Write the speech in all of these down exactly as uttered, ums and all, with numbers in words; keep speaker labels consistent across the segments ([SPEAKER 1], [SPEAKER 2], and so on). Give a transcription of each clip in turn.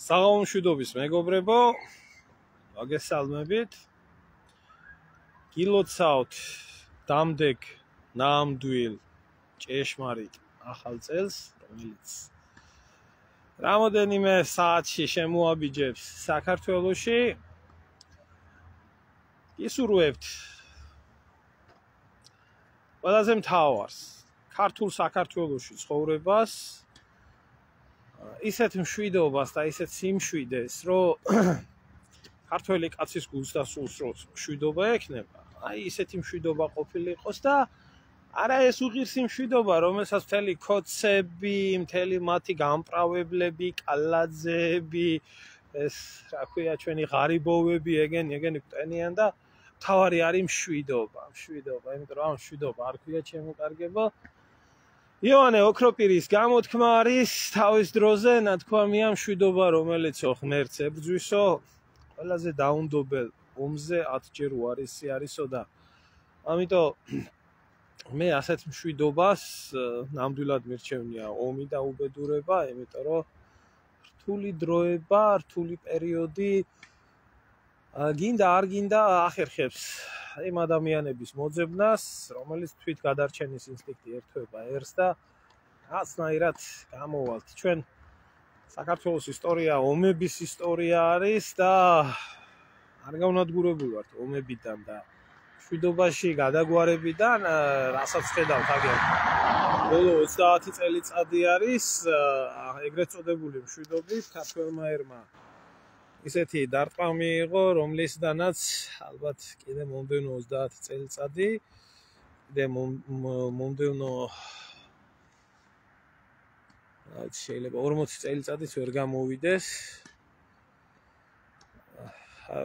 [SPEAKER 1] საღამომშვიდობის მეგობრებო, მოგესალმებით. გილოცავთ დამდეგ ნამდვილ ჭეშმარიტ ახალ წელს, რომელიც რამოდენიმე საათში შემოაბიჯებს საქართველოში. გისურვებთ ყველაზე მთავარს, ქართულ საქართველოში ცხოვრებას, ისეთ მშვიდობას და ისეთ სიმშვიდეს, რომ ქართველი კაცის გულს და სულს რო მშვიდობა ექნება, აი ისეთი მშვიდობა ყოფილიყოს და არა ეს უღირსი მშვიდობა, რომელსაც მთელი ქოცები, მთელი მათი გამპრავებლები, კალაძეები, ეს რა ქვია ჩვენი ღარიბოვები ეგენი ეგენი გვტენიან და თავარი არის მშვიდობა, მშვიდობა, იმიტომ რომ ამ მშვიდობა არ ქვია შემოკარგება. იონე ოქროპირის გამოთქმა არის თავის დროზე ნათქვამია მშვიდობა, რომელიც ღმერთს ებრძვისო, ყველაზე დაუნდობელ ომზე ათჯერ უარესი არისო და ამიტომ მე ასეთ მშვიდობას ნამდვილად მირჩევნია ომი და უბედურება, იმიტომ რომ რთული დროება, რთული პერიოდი გინდა არ გინდა ახერხებს იმ ადამიანების მოძებნას, რომელიც თვით გადარჩენის ინსტინქტი ერთვება ერს და რაცნაირად გამოვალთ. ჩვენ საქართველოს ისტორია ომების ისტორია არის და არ გავნადგურებული ვართ ომებიდან და მშვიდობაში გადაგვარებიდან, რასაც ხედავთ აგერ ბოლო ოცდაათი წელიწადი არის ეგრეთ წოდებული მშვიდობით ქართველმა ერმა ისეთი დარტყმა მიიღო, რომლისთანაც ალბათ კიდე მომდევნო ოცდაათი წელიწადი, კიდე მომდევნო შეიძლება ორმოცი წელიწადიც ვერ გამოვიდეს.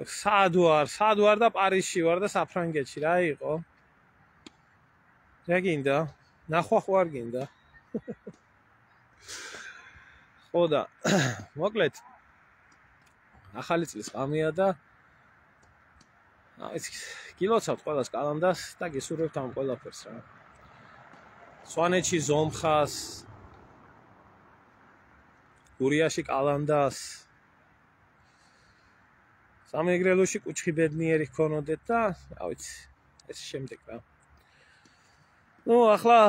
[SPEAKER 1] სად ვარ, სად ვარ და პარიზში ვარ და საფრანგეთში რა იყო? რა გინდა? ნახვა ხო არ გინდა? ხო და მოკლედ ახალი წლის ღამეა და აი გილოცავთ ყველას კალანდას და გისურვებთ ამ ყველაფერს რა. სვანეთში ზომხას, გურიაში კალანდას, სამეგრელოში კუჩხი ბედნიერი ჰქონოდეთ და რა ვიცი, ეს შემდეგ რა. ნუ ახლა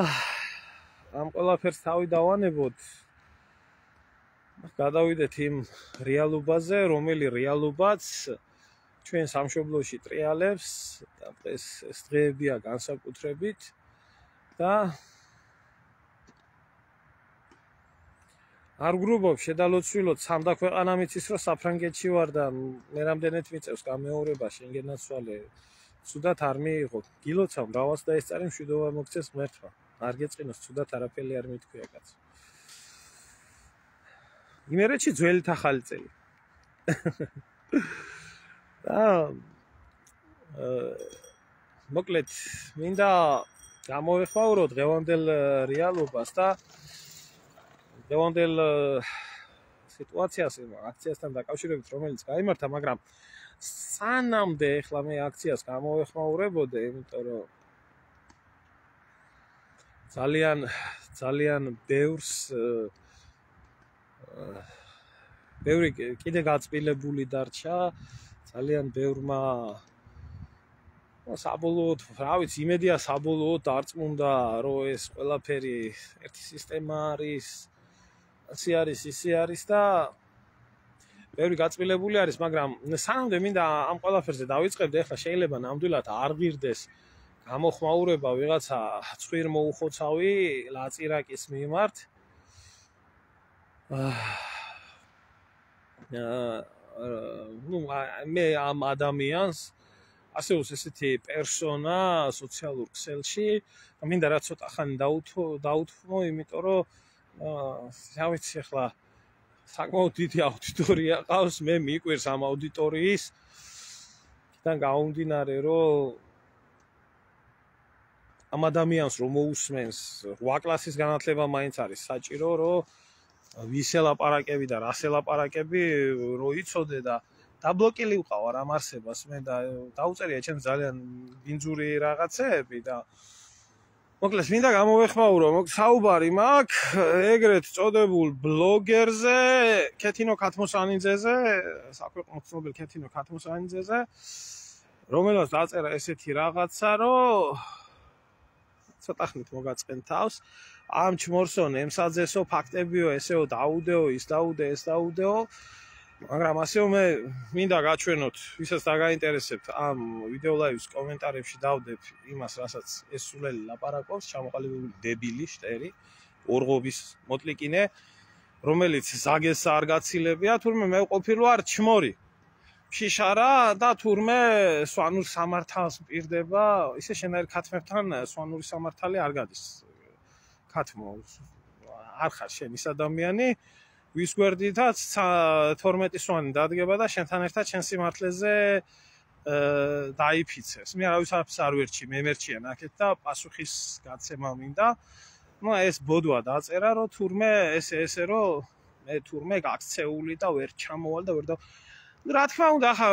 [SPEAKER 1] ამ ყველაფერს თავი დავანებოთ. გადავიდეთ იმ რეალობაზე, რომელი რეალობაც ჩვენ სამშობლოში ტრიალებს და ეს ეს დღეებია განსაკუთრებით და არ გრუბობ შედალოცვილოთ სამდა ქვეყანა მიცის რომ საფრანგეთში ვარ და მე რამდენად მიწევს გამეორება შენგენაც ვალე ცუდად არ მიიღო. გილოცავ მრავალს და ეს წარი მშვიდობა მოგცეს ღმერთმა. არ გეწყინოს ცუდად არაფერი არ მithქვია კაცო. იმერეთში ძველი ახალი წელი. და მოკლედ მინდა გამოვეხმაურო დღევანდელ რეალობას და დღევანდელ სიტუაციას აქციასთან დაკავშირებით, რომელიც გაიმართა, მაგრამ სანამდე ეხლა მე აქციას გამოვეხმაურებოდე, იმიტომ რომ ძალიან ძალიან ბევრს ბევრი კიდე გაწმილებული დარჩა, ძალიან ბევრმა საბოლოოდ, რა ვიცი, იმედია საბოლოოდ დარწმუნდა, რომ ეს ყველაფერი ერთი სისტემა არის, ასე არის, ისე არის და ბევრი გაწმილებული არის, მაგრამ სანამდე მინდა ამ ყველაფერზე დავიწყებდე, ეხლა შეიძლება ნამდვილად არ ღირდეს გამოხმაურება ვიღაცა ცხვირ მოუხოცავი ლაწირაკის მიმართ. ნუ მე ამ ადამიანს ასეულს ესეთი პერსონა სოციალურ ქსელში და მინდა რა ცოტა ხანი დაუთმო, იმიტომ რომ რა ვიცი ახლა საკმაოდ დიდი აუდიტორია ყავს, მე მიყვირს ამ აუდიტორიის თან გაუმდინარე, რომ ამ ადამიანს რომ მოусმენს რვა კლასის განათლება მაინც არის საჭირო, რომ ვის ელაპარაკები და რას ელაპარაკები რო იცოდე და დაბლოკილი ვყავარ ამ არსებას მე და დაუწერია ჩემს ძალიან ბინძური რაღაცეები და მოკლედ მინდა გამოვეხმაურო, მოკლედ საუბარი მაქვს ეგრეთ წოდებულ ბლოგერზე, ქეთინო ქათმოსანიძეზე, საქვეყნო ცნობილ ქეთინო ქათმოსანიძეზე, რომელსაც დაწერა ესეთი რაღაცა, რომ ცოტა ხნით მოგაწყენ თავს, ამ ჩმორსონ ემსაძესო ფაქტებიო, ესეო დაუდეო, ის დაუდე, ეს დაუდეო, მაგრამ ასეო მე მინდა გაჩვენოთ, ვისაც დაგაინტერესებთ ამ ვიდეო ლაივის კომენტარებში დავდებ იმას, რასაც ეს სულელი ლაპარაკობს, ჩამოყალიბებული დებილი, შტერი, ორღობის მოტლიკინე, რომელიც ზაგეს არ გაცილებია, თურმე მე ვყოფილი ვარ ჩმორი. შიშარა და თურმე სვანურ სამართალს მპირდება, ისე შენაერ ქათმებთან სვანური სამართალი არ გადის. ქათმო არ ხარ შენ ის ადამიანი, ვის გვერდითაც თორმეტი სვანი დადგება და შენთან ერთად შენ სიმართლეზე დაიფიცებს. მე არავის არ ვერჩი, მე მერჩია ნაკეთ და პასუხის გაცემა მინდა. ნუ ეს ბოდვა დაწერა, რომ თურმე ესე ესე რომ მე თურმე გაქცეული და ვერ ჩამოვალ და ვერ და რა თქმა უნდა, ხა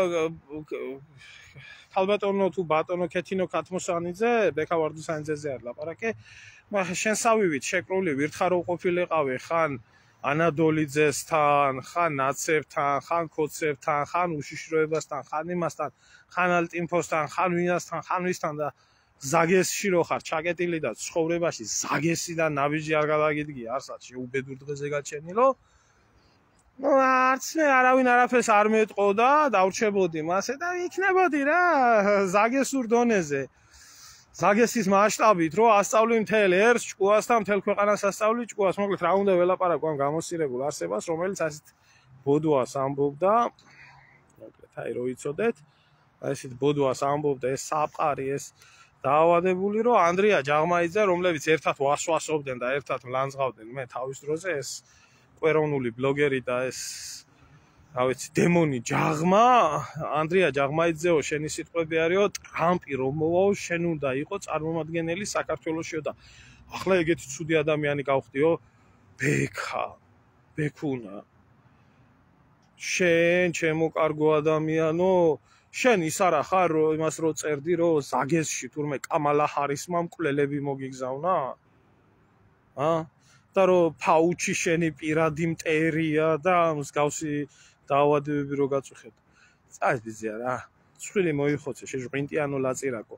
[SPEAKER 1] ქალბატონო თუ ბატონო ქეთინო ქათმოსანიძე, ბექა ვარდუსანიძეზე არ ლაპარაკე, მაგრამ შენ სავივით შეკრული ვირთხარო ყოფილიყავი ხან ანადოლიძესთან, ხან ნაცებთან, ხან ქოცებთან, ხან უშიშროებასთან, ხან იმასთან, ხან ალტინფოსთან, ხან ვინასთან, ხან ვისთან და ზაგესში რო ხარ ჩაკეტილი და ცხოვრებაში ზაგესიდან ნაბიჯი არ გადაგიდგი არსად შეუბედურ დღეზე გაჩენილო. ნუ არც მე არავინ არაფერს არ მეტყო და დავრჩებოდი მასე და იქნებოდი რა ზაგესურ დონეზე. ზაგესის მასშტაბით რო ასწავლი მთელ ერს ჭკუას და მთელ ქვეყანას ასწავლი ჭკუას, მოკლედ რა უნდა ველაპარაკო ამ გამოსირებულ არსებას, რომელიც ასეთ ბოდვას ამბობდა, მოკლედ აი რო იცოდეთ, ასეთ ბოდვას ამბობდა ეს საფყარი, ეს დაავადებული, რომ ანდრია ჯაღმაიძე, რომლებიც ერთად ვასვასობდნენ და ერთად მლანძღავდნენ მე თავის დროზე, ეს კვეროვნული ბლოგერი და ეს რა ვიცი დემონი ჯაღმა, ანდრია ჯაღმაიძეო, შენი სიტყვები არისო, ტრამპი რომ მოვაო, შენ უნდა იყო წარმომადგენელი საქართველოსიო და ახლა ეგეთი ცუდი ადამიანი გავხდიო, ბექა, ბექუნა. შენ, ჩემო კარგო ადამიანო, შენ ის არა ხარ, რომ იმას რო წერდი, რომ ზაგესში თურმე კამალა ჰარისმა მკვლელები მოგიგზავნა? ა? და რომ ფაუჩი შენი პირადი მტერია და მსგავსი დაავადებები რო გაწუხეთ. წაიბიზია რა. ცხვილი მოიხოცე, შეჟღვინტიანო ლაწირაკო.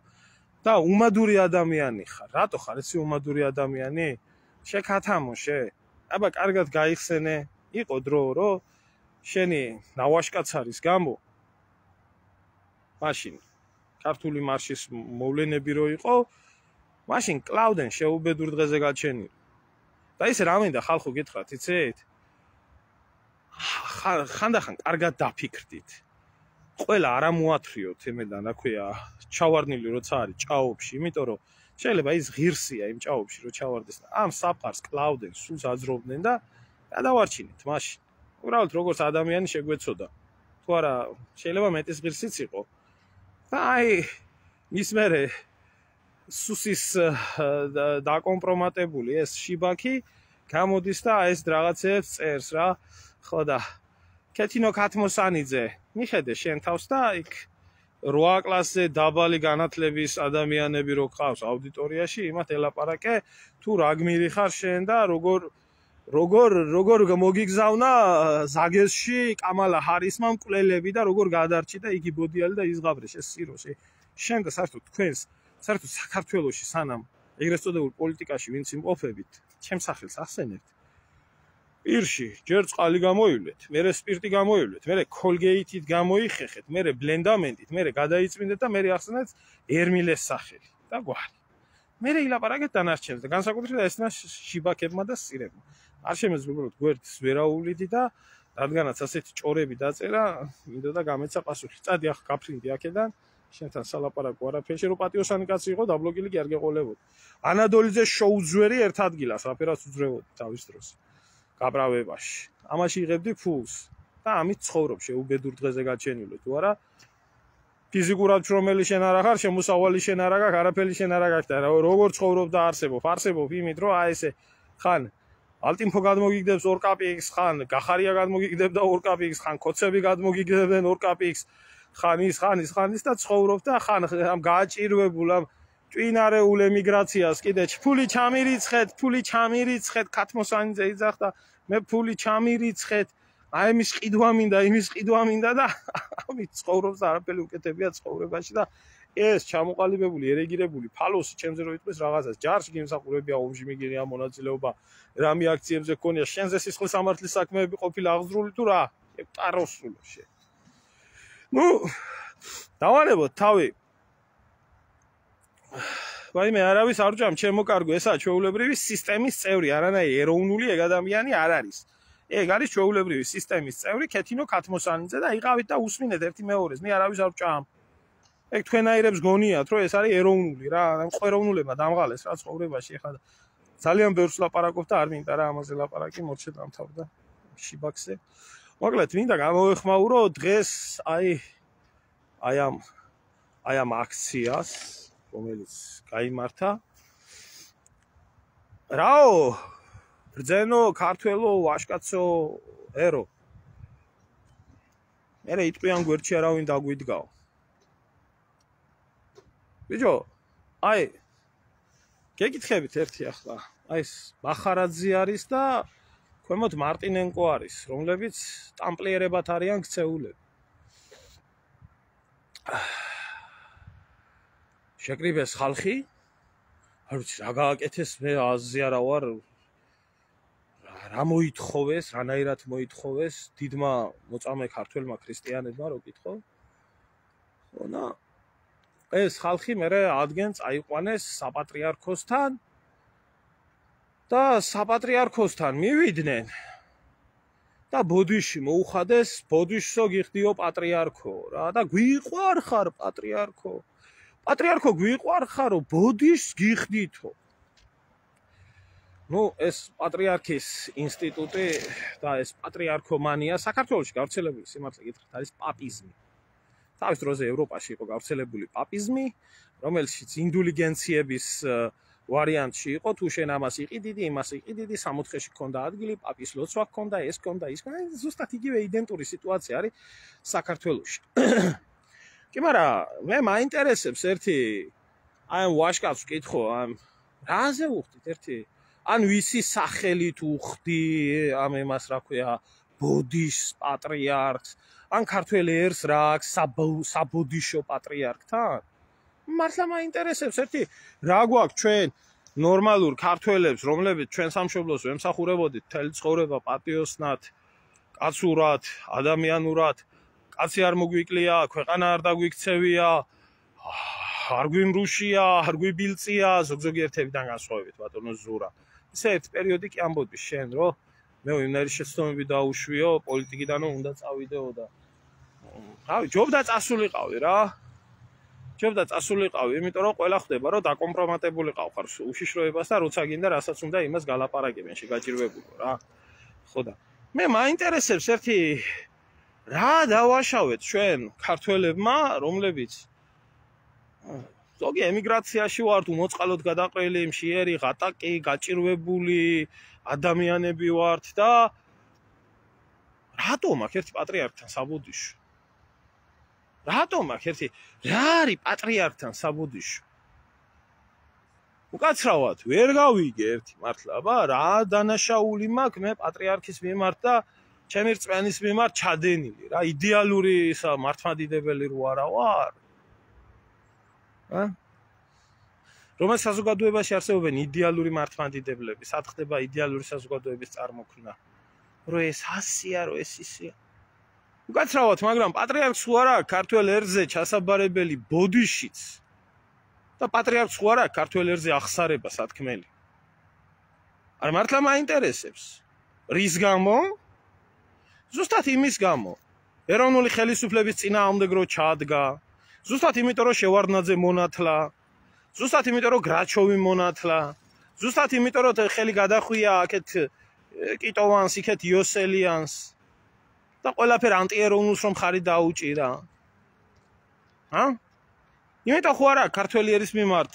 [SPEAKER 1] და უმადური ადამიანი ხარ. რატო ხარ ესი უმადური ადამიანი? შეკათამოშე. აბა კარგად გაიხსენე. იყო დრო, რომ შენი ნავაშკაცარის გამო მაშინ ქართული მარშის მოვლენები რო იყო, მაშინ კლავდნენ შეუბედურ დღეზე გაჩენილი. და ისე რა მინდა ხალხო გითხრათ, იცით? ხანდახან კარგად დაფიქრდით. ყველა არ ამოათრიოთ ემედან, რა ქვია, ჩავარდნილი როცა არის ჭაობში, იმიტომ რომ შეიძლება ის ღირსია იმ ჭაობში, რომ ჩავარდეს. ამ საფყარს კლავდნენ, სულს აძრობდნენ და გადავარჩინეთ მაშინ. უბრალოდ როგორც ადამიანი შეგვეცოდა. თუ არა, შეიძლება მეტის ღირსიც იყო. და აი ის მერე სუსის დაკომპრომატებული ეს შიბაკი გამოდის და ეს რაღაცებს წერს რა. ხო და ქეთინო ქათმოსანიძე, მიხედე შენ თავს და იქ რვა კლასზე დაბალი განათლების ადამიანები რო გყავს აუდიტორიაში, იმათ ელაპარაკე, თუ რა გმირი ხარ შენ და როგორ როგორ როგორ მოგიგზავნა ზაგესში კამალა ჰარისმა მკვლელები და როგორ გადარჩი და იგი ბოდიალი და იზღაბრე შესიროში. შენ და საერთოდ თქვენს საერთოდ საქართველოში სანამ ეგრეთ წოდებულ პოლიტიკაში ვინც იმყოფებით, ჩემს სახელს ახსენებთ. პირში ჯერ წყალი გამოივლეთ, მერე სპირტი გამოივლეთ, მერე კოლგეიტით გამოიხეხეთ, მერე ბლენდამენტით, მერე გადაიწმინდეთ და მერე ახსენეთ ერმილეს სახელი და გვარი. მერე ილაპარაკეთ დანარჩენს და განსაკუთრებით ესნა შიბაკებმა და სირებმა. არ შემეძლო უბრალოდ გვერდს ვერაულიდი და რადგანაც ასეთი ჭორები დაწერა, მინდოდა გამეცა პასუხი. წადი ახლა გაფრინდი აქედან. შენთან სალაპარაკო არაფერში, რომ პატიოსანი კაცი იყო, დაბლოკილი კი არ გეყოლებოდი. ანადოლიძე შოუძვერი ერთ ადგილას, რაფერას უძრევოდი თავის დროს. გაბრავებაში. ამაში იღებდი ფულს და ამით ცხოვრობ შეუბედურ დღეზე გაჩენილო, თუ არა? ფიზიკურად შრომელი შენ არა ხარ, შემოსავალი შენ არა გაქვს, არაფერი შენ არა გაქვს და როგორ ცხოვრობ და არსებობ, არსებობ იმით, რომ აი ესე ხან ალტინფო გადმოგიგდებს ორ კაპიკს, ხან გახარია გადმოგიგდებდა ორ კაპიკს, ხან ქოცები გადმოგიგდებდნენ ორ კაპიკს, ხან ის, ხან ის, ხან ის და ცხოვრობ და ხან ამ გააჭირვებულ ამ ჭვინარეულ ემიგრაციას კიდე ფული ჩამირიცხეთ, ფული ჩამირიცხეთ, ქათმოსანიძე იძახდა, მე ფული ჩამირიცხეთ, აი იმის ყიდვა მინდა, იმის ყიდვა მინდა და ამით ცხოვრობს არაფერი უკეთებია ცხოვრებაში და ეს ჩამოყალიბებული, ერეგირებული ფალოსი ჩემზე რო იტყვის რაღაცას, ჯარში გიმსახურებია, ომში მიგიღია მონაწილეობა, რამე აქციებზე გქონია, შენზე სისხლის სამართლის საქმეები ყოფილი აღზრული თუ რა? ტაროსულო შე. ნუ დავანებოთ თავი. ვაიმე არავის არ ვჭამ, ჩემო კარგო, ესაა ჩვეულებრივი სისტემის წევრი, არანაირი ეროვნული ეგ ადამიანი არ არის. ეგ არის ჩვეულებრივი სისტემის წევრი, ქეთინო ქათმოსანიძე და იყავით და უსმინეთ ერთი მეორეს, მე არავის არ ვჭამ. ეგ თქვენაირებს გონიათ, რომ ეს არის ეროვნული რა, ყველოვნულებმა დამღალეს რა ცხოვრებაში, ეხლა ძალიან ბევრს ლაპარაკობ და არ მინდა რა ამაზე ლაპარაკი, მორჩე დამთავრდა შიბაქსე. მოკლედ, მინდა გამოვეხმაურო დღეს აი აი ამ აი ამ აქციას, რომელიც გაიმართა. რაო, ბრძენო, ქართველო, ვაშკაცო, ერო. მერე იტყვიან გვერდში არავინ დაგვიდგაო. ბიჭო, აი გეკითხებით ერთი ახლა. აი ეს მახარაძე არის და ქვემოთ მარტინენკო არის, რომლებიც ტამპლიერებად არიან ქცეულები. შეკრიბეს ხალხი, არ ვიცი რა გააკეთეს, მე აზზე არა ვარ. რა მოითხოვეს, რანაირად მოითხოვეს დიდმა მოწამე ქართველმა ქრისტიანებმა რო კითხო. ხო და ეს ხალხი მერე ადგენს აიყვანეს საპატრიარქოსთან და საპატრიარქოსთან მივიდნენ და ბოდიში მოუხადეს ბოდიშსო გიხდიო პატრიარქო რა და გვიყვარხარ პატრიარქო პატრიარქო გვიყვარხარო ბოდიშს გიხდითო. ნუ ეს პატრიარქის ინსტიტუტი და ეს პატრიარქომანია საქართველოში გავრცელებული სიმართლე გითხრათ არის პაპიზმი. თავის დროზე ევროპაში იყო გავრცელებული პაპიზმი, რომელშიც ინდულიგენციების ვარიანტში იყო, თუ შენ ამას იყიდიდი, იმას იყიდიდი, სამოთხეში ქონდა ადგილი, პაპის ლოცვა ქონდა, ეს ქონდა, ის ქონდა, ზუსტად იგივე იდენტური სიტუაცია არის საქართველოში. კი, მაგრამ მე მაინტერესებს ერთი აი ამ ვაშკაცს ვკითხო, ამ რაზე უხდით ერთი ან ვისი სახელით უხდი ამ εμას რა ქვია ბოდიშს პატრიარქს ან ქართველ ერს რა აქვს საბოდიშო პატრიარქთან? მართლა მაინტერესებს ერთი რა გვაქვს ჩვენ ნორმალურ ქართველებს, რომლებიც ჩვენ სამშობლოს ვემსახურებოდით მთელი ცხოვრება პატიოსნად, კაცურად, ადამიანურად, კაცი არ მოგვიკლია, ქვეყანა არ დაგვიქცევია, არ გვიმრუშია, არ გვიბილწია, ზოგ-ზოგიერთებიდან განსხვავებით ბატონო ზურა. ისე ერთ პერიოდი კი ამბობდი შენ, რომ მე ვინარი შეცდომები დაუშვიო, პოლიტიკიდანო უნდა წავიდეო და რავი, ჯობდა წასულიყავი რა. ჯობდა წასულიყავი, იმიტომ რომ ყველა ხვდება, რომ დაკომპრომატებულიყავ ხარ უშიშროებას და როცა გინდა რასაც უნდა იმას გალაპარაკებენ, შეგაჭირვებულო რა. ხო და მე მაინტერესებს ერთი რა დავაშავეთ ჩვენ ქართველებმა, რომლებიც ზოგი ემიგრაციაში ვართ, უმოწყალოდ გადაყრილი, მშიერი, ღატაკი, გაჭირვებული ადამიანები ვართ და რატომ აქ ერთი პატრიარქთან საბოდიშო? რატომ აქ ერთი რა არის პატრიარქთან საბოდიშო? უკაცრავად ვერ გავიგე ერთი მართლა, აბა რა დანაშაული მაქვს მე პატრიარქის მიმართ და ჩემი რწმენის მიმართ ჩადენილი რა, იდეალური ისა მართლმადიდებელი რო არა ვარ? ა? რომელ საზოგადოებაში არსებობენ იდეალური მართლმადიდებლები, სად ხდება იდეალური საზოგადოების წარმოქმნა? რომ ეს ასია, რომ ეს ისია. უკაცრავად, მაგრამ პატრიარქს ხო არა ქართველ ერზე ჩასაბარებელი ბოდიშიც და პატრიარქს ხო არა ქართველ ერზე ახსარება სათქმელი. არ მართლა მაინტერესებს. რის გამო? ზუსტად იმის გამო. ეროვნული ხელისუფლების წინააღმდეგ რო ჩადგა, ზუსტად იმიტომ რომ შევარდნაძე მონათლა, ზუსტად იმიტომ რომ გრაჩოვი მონათლა, ზუსტად იმიტომ რომ ხელი გადახვია აქეთ კიტოვანს, იქეთ იოსელიანს და ყველაფერ ანტიეროვნულს რომ ხარი დაუჭირა. ა? იმიტომ ხო არა ქართველი ერის მიმართ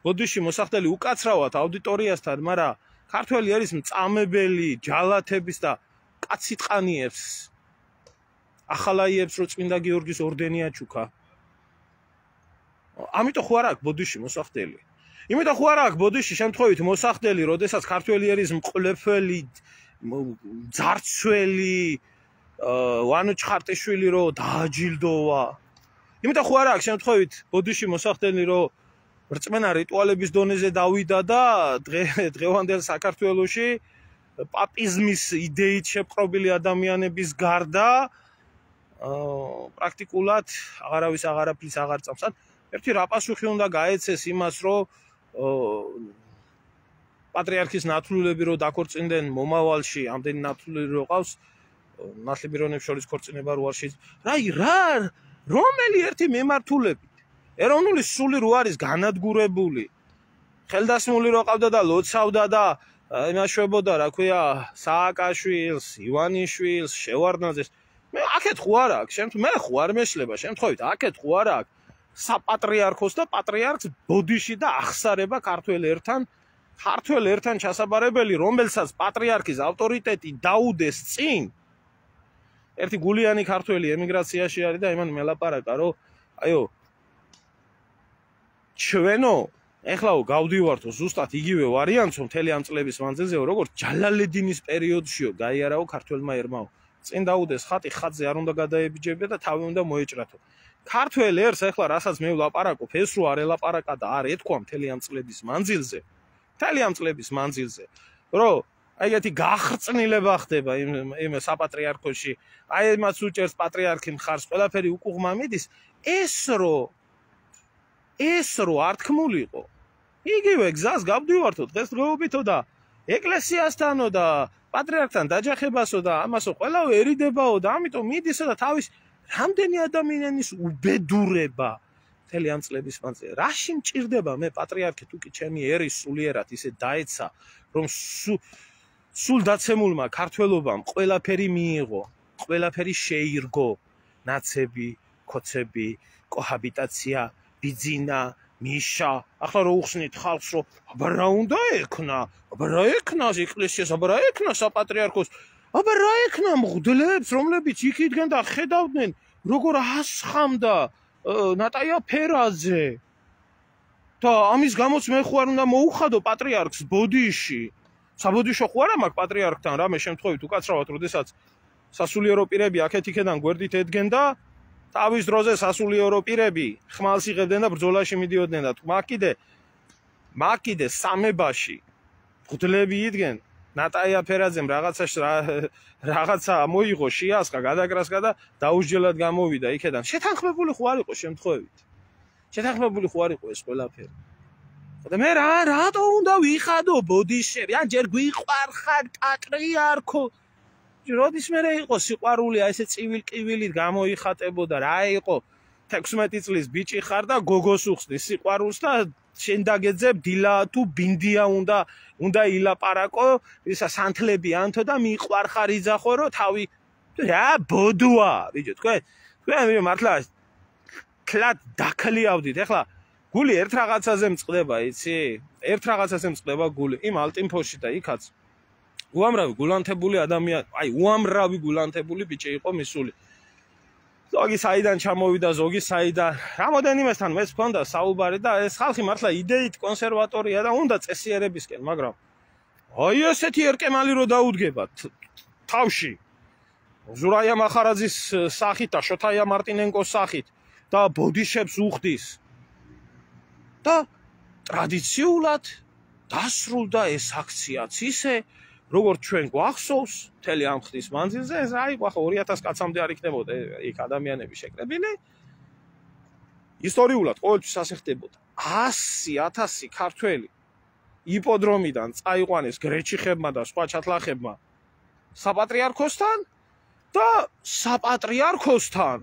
[SPEAKER 1] ბოდიში მოსახდელი უკაცრავად აუდიტორიასთან, მაგრამ ქართველი ერის მწამებელი ჯალათების და კაციტყანიებს ახალაიებს რო წმინდა გიორგის ორდენი აჩუქა. ამიტომ ხო არა აქვს ბოდიში მოსახდელი. იმიტომ ხო არა აქვს ბოდიში შემთხვევით მოსახდელი, როდესაც ქართველი ერის მყლეფელი, ძარცველი, ვანო ჩხარტიშვილი რო დააჯილდოვა. იმიტომ ხო არა აქვს შემთხვევით ბოდიში მოსახდელი, რომ რწმენა რიტუალების დონეზე დავიდა და დღევანდელ საქართველოში პაპიზმის იდეით შეპყრობილი ადამიანების გარდა პრაქტიკულად აღარავის აღარაფრის აღარ წამს. ერთი რა პასუხი უნდა გაეცეს იმას, რომ პატრიარქის ნათლულები რო დაქორწინდნენ მომავალში, ამდენი ნათლული რო ყავს, ნათლიბირონებს შორის ქორწინება რო არ შეიძლება. რაი რა რომელი ერთი მემართულებით ეროვნული სული რო არის განადგურებული, ხელდასმული რო ყავდა და ლოცავდა და იმაშვებოდა, რა ქვია, სააკაშვილს, ივანიშვილს, შევარდნაძეს. მე აქეთ ხო არ აქვს, შემთხვევით მე ხო არ მეშლება, შემთხვევით აქეთ ხო არ აქვს საპატრიარქოს და პატრიარქს ბოდიში და ახსარება ქართველ ერთან, ქართველ ერთან ჩასაბარებელი, რომელსაც პატრიარქის ავტორიტეტი დაუდეს წინ. ერთი გულიანი ქართველი ემიგრაციაში არის და იმან მელაპარაკა, რომ აიო ჩვენო ეხლაო გავდივართო ზუსტად იგივე ვარიანტს მთელი ამ წლების მანძილზეო, როგორც ჯალალედინის პერიოდშიო გაიარაო ქართველმა ერმაო. წინ დაუდეს ხატი, ხატზე არ უნდა გადაებიჯებია და თავი უნდა მოეჭრათო. ქართველ ერს ეხლა რასაც მე ვლაპარაკობ, ეს რო არ ელაპარაკა და არ ეთქვა მთელი ამ წლების მანძილზე, მთელი ამ წლების მანძილზე, რომ აი ეგეთი გახრწნილება ხდება იმ იმ საპატრიარქოში, აი იმას უჭერს პატრიარქი მხარს, ყველაფერი უკუღმა მიდის, ეს რო ეს რო არ თქმულიყო, იგივე გზას გავდივართო დღესდღეობითო და ეკლესიასთანო და პატრიარქთან დაჯახებასო და ამასო ყველავე ერიდებაო და ამიტომ მიდისო და თავის რამდენი ადამიანის უბედურება მთელი ამ წლების მანძილზე. რაში მჭირდება მე პატრიარქი თუ კი ჩემი ერის სულიერად ისე დაეცა, რომ სულ დაცემულმა ქართველობამ ყველაფერი მიიღო, ყველაფერი შეირგო, ნაცები, ქოცები, კოჰაბიტაცია, ბიძინა, მიშა. ახლა რო უხსნით ხალხს, რომ აბა რა უნდა ეკნა, აბა რა ეკნას ეკლესიას, აბა რა ეკნას საპატრიარქოს, აბა რა ეკნა მღვდლებს, რომლებიც იქ იდგნენ და ხედავდნენ, როგორ ასხამდა ნატაია ფერაძე. და ამის გამოც მე ხო არ უნდა მოუხადო პატრიარქს ბოდიში. საბოდიშო ხო არა მაქვს პატრიარქთან რამე შემთხვევით უკაცრავად, როდესაც სასულიერო პირები აქეთ იქედან გვერდით ედგენ და თავის დროზე სასულიერო პირები ხმალს იღებდნენ და ბრძოლაში მიდიოდნენ და მაგ კიდე მაგ კიდე სამებაში მღვდლები იდგენ. ნატაია ფერაძემ რაღაცაში რაღაცა მოიღო შიასხა, გადაკრასკა და დაუსჯელად გამოვიდა იქედან. შეთანხმებული ხო არ იყო შემთხვევით. შეთანხმებული ხო არ იყო ეს ყველაფერი. და მე რა რატო უნდა ვიხადო ბოდიშები? ან ჯერ გვიყვარხარ პატრიარქო. როდის მე იყო სიყვარული, აი ესე წივილ-კივილით გამოიხატებოდა, რა იყო თექვსმეტი წლის ბიჭი ხარ და გოგოს უხსნი სიყვარულს და შენ დაგეძებ დილა თუ ბინდია უნდა უნდა ილაპარაკო, ისა სანთლები ანთო და მიყვარხარ იძახო, რომ თავი რა ბოდუა, ბიჭო, თქვენ თქვენ მართლა კლად დაქლიავდით. ეხლა გული ერთ რაღაცაზე მწყდება, იცი? ერთ რაღაცაზე მწყდება გული, იმ ალტინფოში და იქაც უამრავი გულანთებული ადამიანი, აი უამრავი გულანთებული ბიჭი იყო მისული. ზოგი საიდან ჩამოვიდა, ზოგი საიდან. რამოდენიმესთან მეც მქონდა საუბარი და ეს ხალხი მართლა იდეით კონსერვატორია და უნდა წესიერებისკენ, მაგრამ აი ესეთი ერკემალი რო დაუდგებათ თავში. ზურაია მახარაძის სახით და შოთაია მარტინენკოს სახით და ბოდიშებს უხდის. და ტრადიციულად დასრულდა ეს აქციაც ისე, როგორც ჩვენ გვახსოვს, მთელი ამ ხნის მანძილზე, ეს რა იყო, ახლა ორი ათას კაცამდე არ იქნებოდა იქ ადამიანები შეკრებილი. ისტორიულად ყოველთვის ასე ხდებოდა. ასი ათასი ქართველი იპოდრომიდან წაიყვანეს გრეჩიხებმა და სხვა ჩათლახებმა საპატრიარქოსთან და საპატრიარქოსთან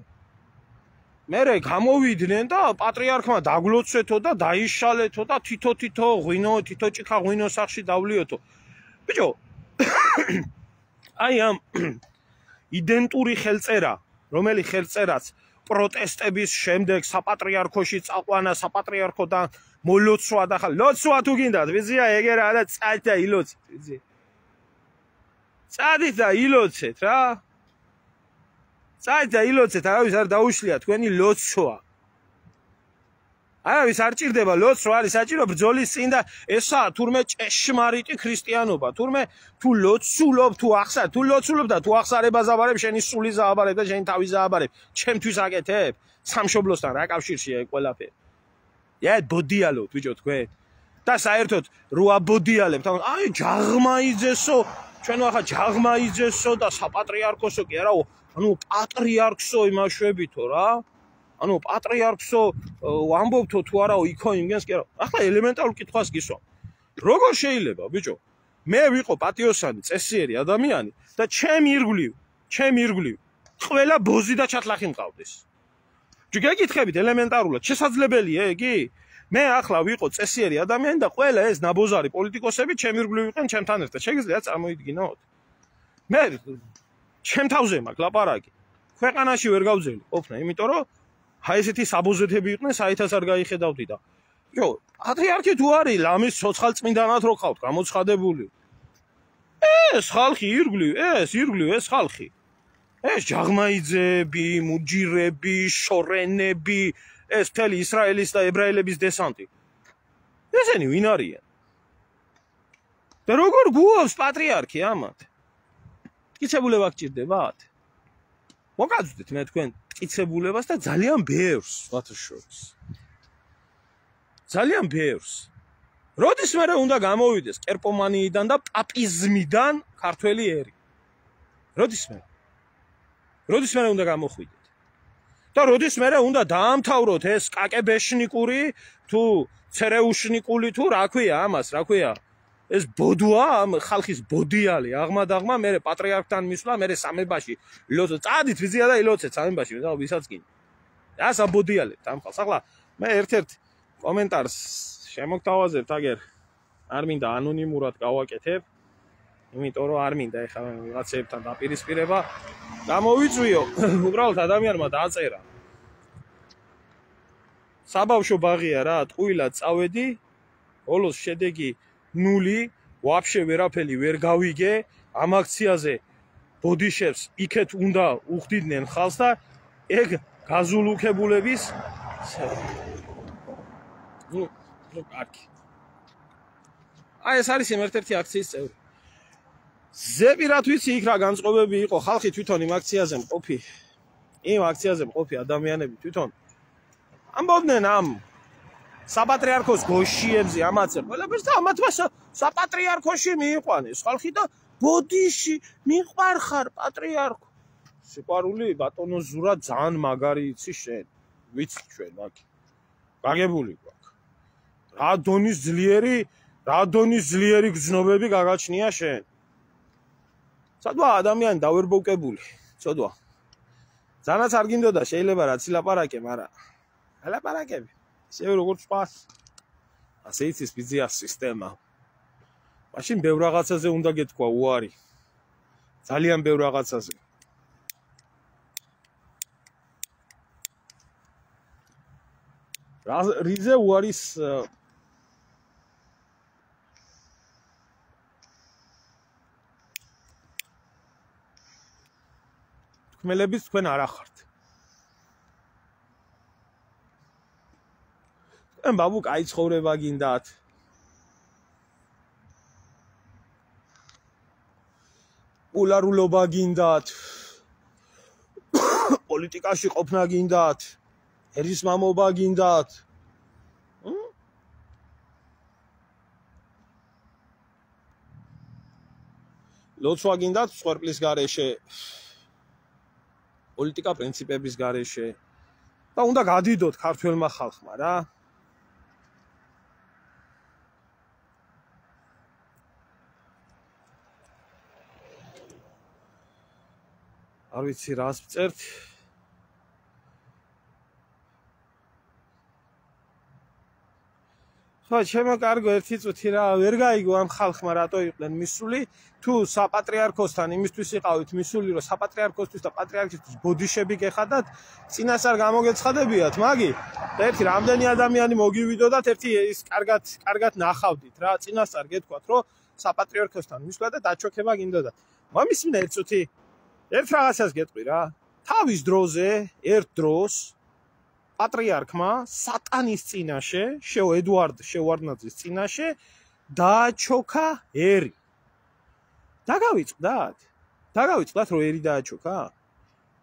[SPEAKER 1] მერე გამოვიდნენ და პატრიარქმა დაგლოცვეთო და დაიშალეთო და თითო-თითო ღვინო, თითო-ჭიქა ღვინო სახში დავლიოთო. ბიჭო, აი ამ იდენტური ხელწერა, რომელი ხელწერაც პროტესტების შემდეგ საპატრიარქოში წაყვანა, საპატრიარქოდან მოლოცვა და ხა ლოცვა თუ გინდათ, ვიცია ეგერა და წადით და ილოცეთ, ვიცი. წადით და ილოცეთ რა. წადით და ილოცეთ, არავის არ დაუშლია თქვენი ლოცვა. არავის არ ჭირდება ლოცვა, რო არის საჭირო ბრძოლის წინ და ესა თურმე ჭეშმარიტი ქრისტიანობა, თურმე თუ ლოცულობ, თუ ახსარ, თუ ლოცულობ და თუ ახსარებას აბარებ, შენი სული ზააბარებ და შენი თავი ზააბარებ, ჩემთვის აკეთებ, სამშობლოსთან რა კავშირშია ეგ ყველაფერი. ე ბოდიალოთ ბიჭო თქვენ. და საერთოდ რო აბოდიალებთ, აი ჯაღმა იძესო, ჩვენ ახლა ჯაღმა იძესო და საპატრიარქოსო კი არა, ანუ პატრიარქსო იმაშვებითო რა. ანუ პატრიარქსო ვამბობთო თუ არაო იქო იმგენს კი არა. ახლა ელემენტარულ კითხვას გისვა. როგორ შეიძლება ბიჭო? მე ვიყო პატიოსანი, წესიერი ადამიანი და ჩემ ირგვლივ, ჩემ ირგვლივ ყველა ბოზი და ჩათლახი მყავდეს. გეკითხებით ელემენტარულად, შესაძლებელია იგი? მე ახლა ვიყო წესიერი ადამიანი და ყველა ეს ნაბოზარი პოლიტიკოსები ჩემ ირგვლივ იყვნენ ჩემთან ერთად. შეგიძლია წარმოიდგინოთ? მე ჩემ თავზე მაქვს ლაპარაკი. ქვეყანაში ვერ გავძელი ყოფნა, იმიტომ რომ აი ესეთი საბოზეთები იყვნენ, საერთოდ არ გაიხედავდი და. ჯო, პატრიარქი თუ არის, ლამის ცოცხალწმინდანად რო ხავთ, გამოცხადებული. ეს ხალხი ირგვლივ, ეს ირგვლივ ეს ხალხი. ეს ჯაღმაიძეები, მუჯირები, შორენები, ეს მთელი ისრაელის და ებრაელების დესანტი. ესენი ვინ არიან? და როგორ გუავს პატრიარქი ამათ? მტკიცებულება გჭირდებათ? მოგაძვდეთ მე თქვენ მტკიცებულებას და ძალიან ბევრს, სხვათა შორის. ძალიან ბევრს. როდის მერე უნდა გამოვიდეს კერპომანიიდან და პაპიზმიდან ქართველი ერი? როდის მერე? როდის მერე უნდა გამოხვიდეთ? და როდის მერე უნდა დაამთავროთ ეს კაკებეშნიკური თუ ცერეუშნიკული თუ რა ქვია ამას, რა ქვია? ეს ბოდუა ამ ხალხის ბოდიალი, აღმადაღმა მერე პატრიარქთან მისვლა, მერე სამებაში ლოცვა. წადით ვიზია და ილოცეთ სამებაში, და ვისაც კი. ას აბოდიალებთ ამ ხალხს. ახლა მე ერთ-ერთ კომენტარს შემოგთავაზებთ, აგერ არ მინდა ანონიმურად გავაკეთებ, იმიტომ რომ არ მინდა ეხლა ვიღაცებთან დაპირისპირება გამოვიწვიო. უბრალოდ ადამიანმა დააწერა. საბავშვო ბაღია რა, ტყუილად წავედი, ბოლოს შედეგი ნული, ვაფშე ვერაფერი ვერ გავიგე, ამ აქციაზე ბოდიშებს იქეთ უნდა უხდიდნენ ხალხს და ეგ გაზულუქებულების ნუ ნუ კარგი. აი ეს არის ერთ-ერთი აქციის წევრი. ზები რა თვიცი იქ რა განწყობები იყო, ხალხი თვითონ იმ აქციაზე მყოფი, იმ აქციაზე მყოფი ადამიანები თვითონ ამბობდნენ ამ საპატრიარქოს გოშიებზე ამაცე ყველაფერს და ამათმა საპატრიარქოში მიიყვანეს ხალხი და ბოდიში მიყვარხარ პატრიარქო. სიყვარული ბატონო ზურა ძალიან მაგარი იცი შენ. ვიცი ჩვენ მაგ. გაგებული გვაქვს. რა დონის ძლიერი, რა დონის ძლიერი გზნობები გაგაჩნია შენ. სადღა ადამიანი დავერბოვკებული, ცოდვა. ძალაც არ გინდოდა შეიძლება რაც ლაპარაკე, მაგრამ ლაპარაკები ისე როგორც ყავს. ასე იცის ბიზნეს სისტემა. მაშინ ბევრ რაღაცაზე უნდა გეთქვა უარი. ძალიან ბევრ რაღაცაზე. რიზე უარის თქმელების თქვენ არ ახართ. თქვენ ბაბუ კაი ცხოვრება გინდათ. პოლარულობა გინდათ. პოლიტიკაში ყოფნა გინდათ. ერის მამობა გინდათ. ლოცვა გინდათ სვერპლის გარეშე. პოლიტიკა პრინციპების გარეშე და უნდა გადიდოთ ქართველმა ხალხმა რა. არ ვიცი რას ვწერთ. ხო, ჩემო კარგო ერთი წუთი რა, ვერ გაიგო ამ ხალხმა რატო იყვნენ მისული, თუ საპატრიარქოსთან იმისთვის იყავით მისული, რომ საპატრიარქოსთვის და პატრიარქისთვის ბოდიშები გეხადათ, წინასწარ გამოგეცხადებიათ, მაგი? და ერთი რამდენი ადამიანი მოგივიდოდათ, ერთი ის კარგად, კარგად ნახავდით რა, წინასწარ გეთქვათ, რომ საპატრიარქოსთან მისვლა და დაჩოქება გინდოდათ. მომისმინე ერთ წუთი. ერთ რაღაცას გეტყვი რა. თავის დროზე, ერთ დროს პატრიარქმა სატანის წინაშე, შეო ედუარდ შევარდნაძის წინაშე დააჩოქა ერი. დაგავიწყდათ? დაგავიწყდათ რომ ერი დააჩოქა?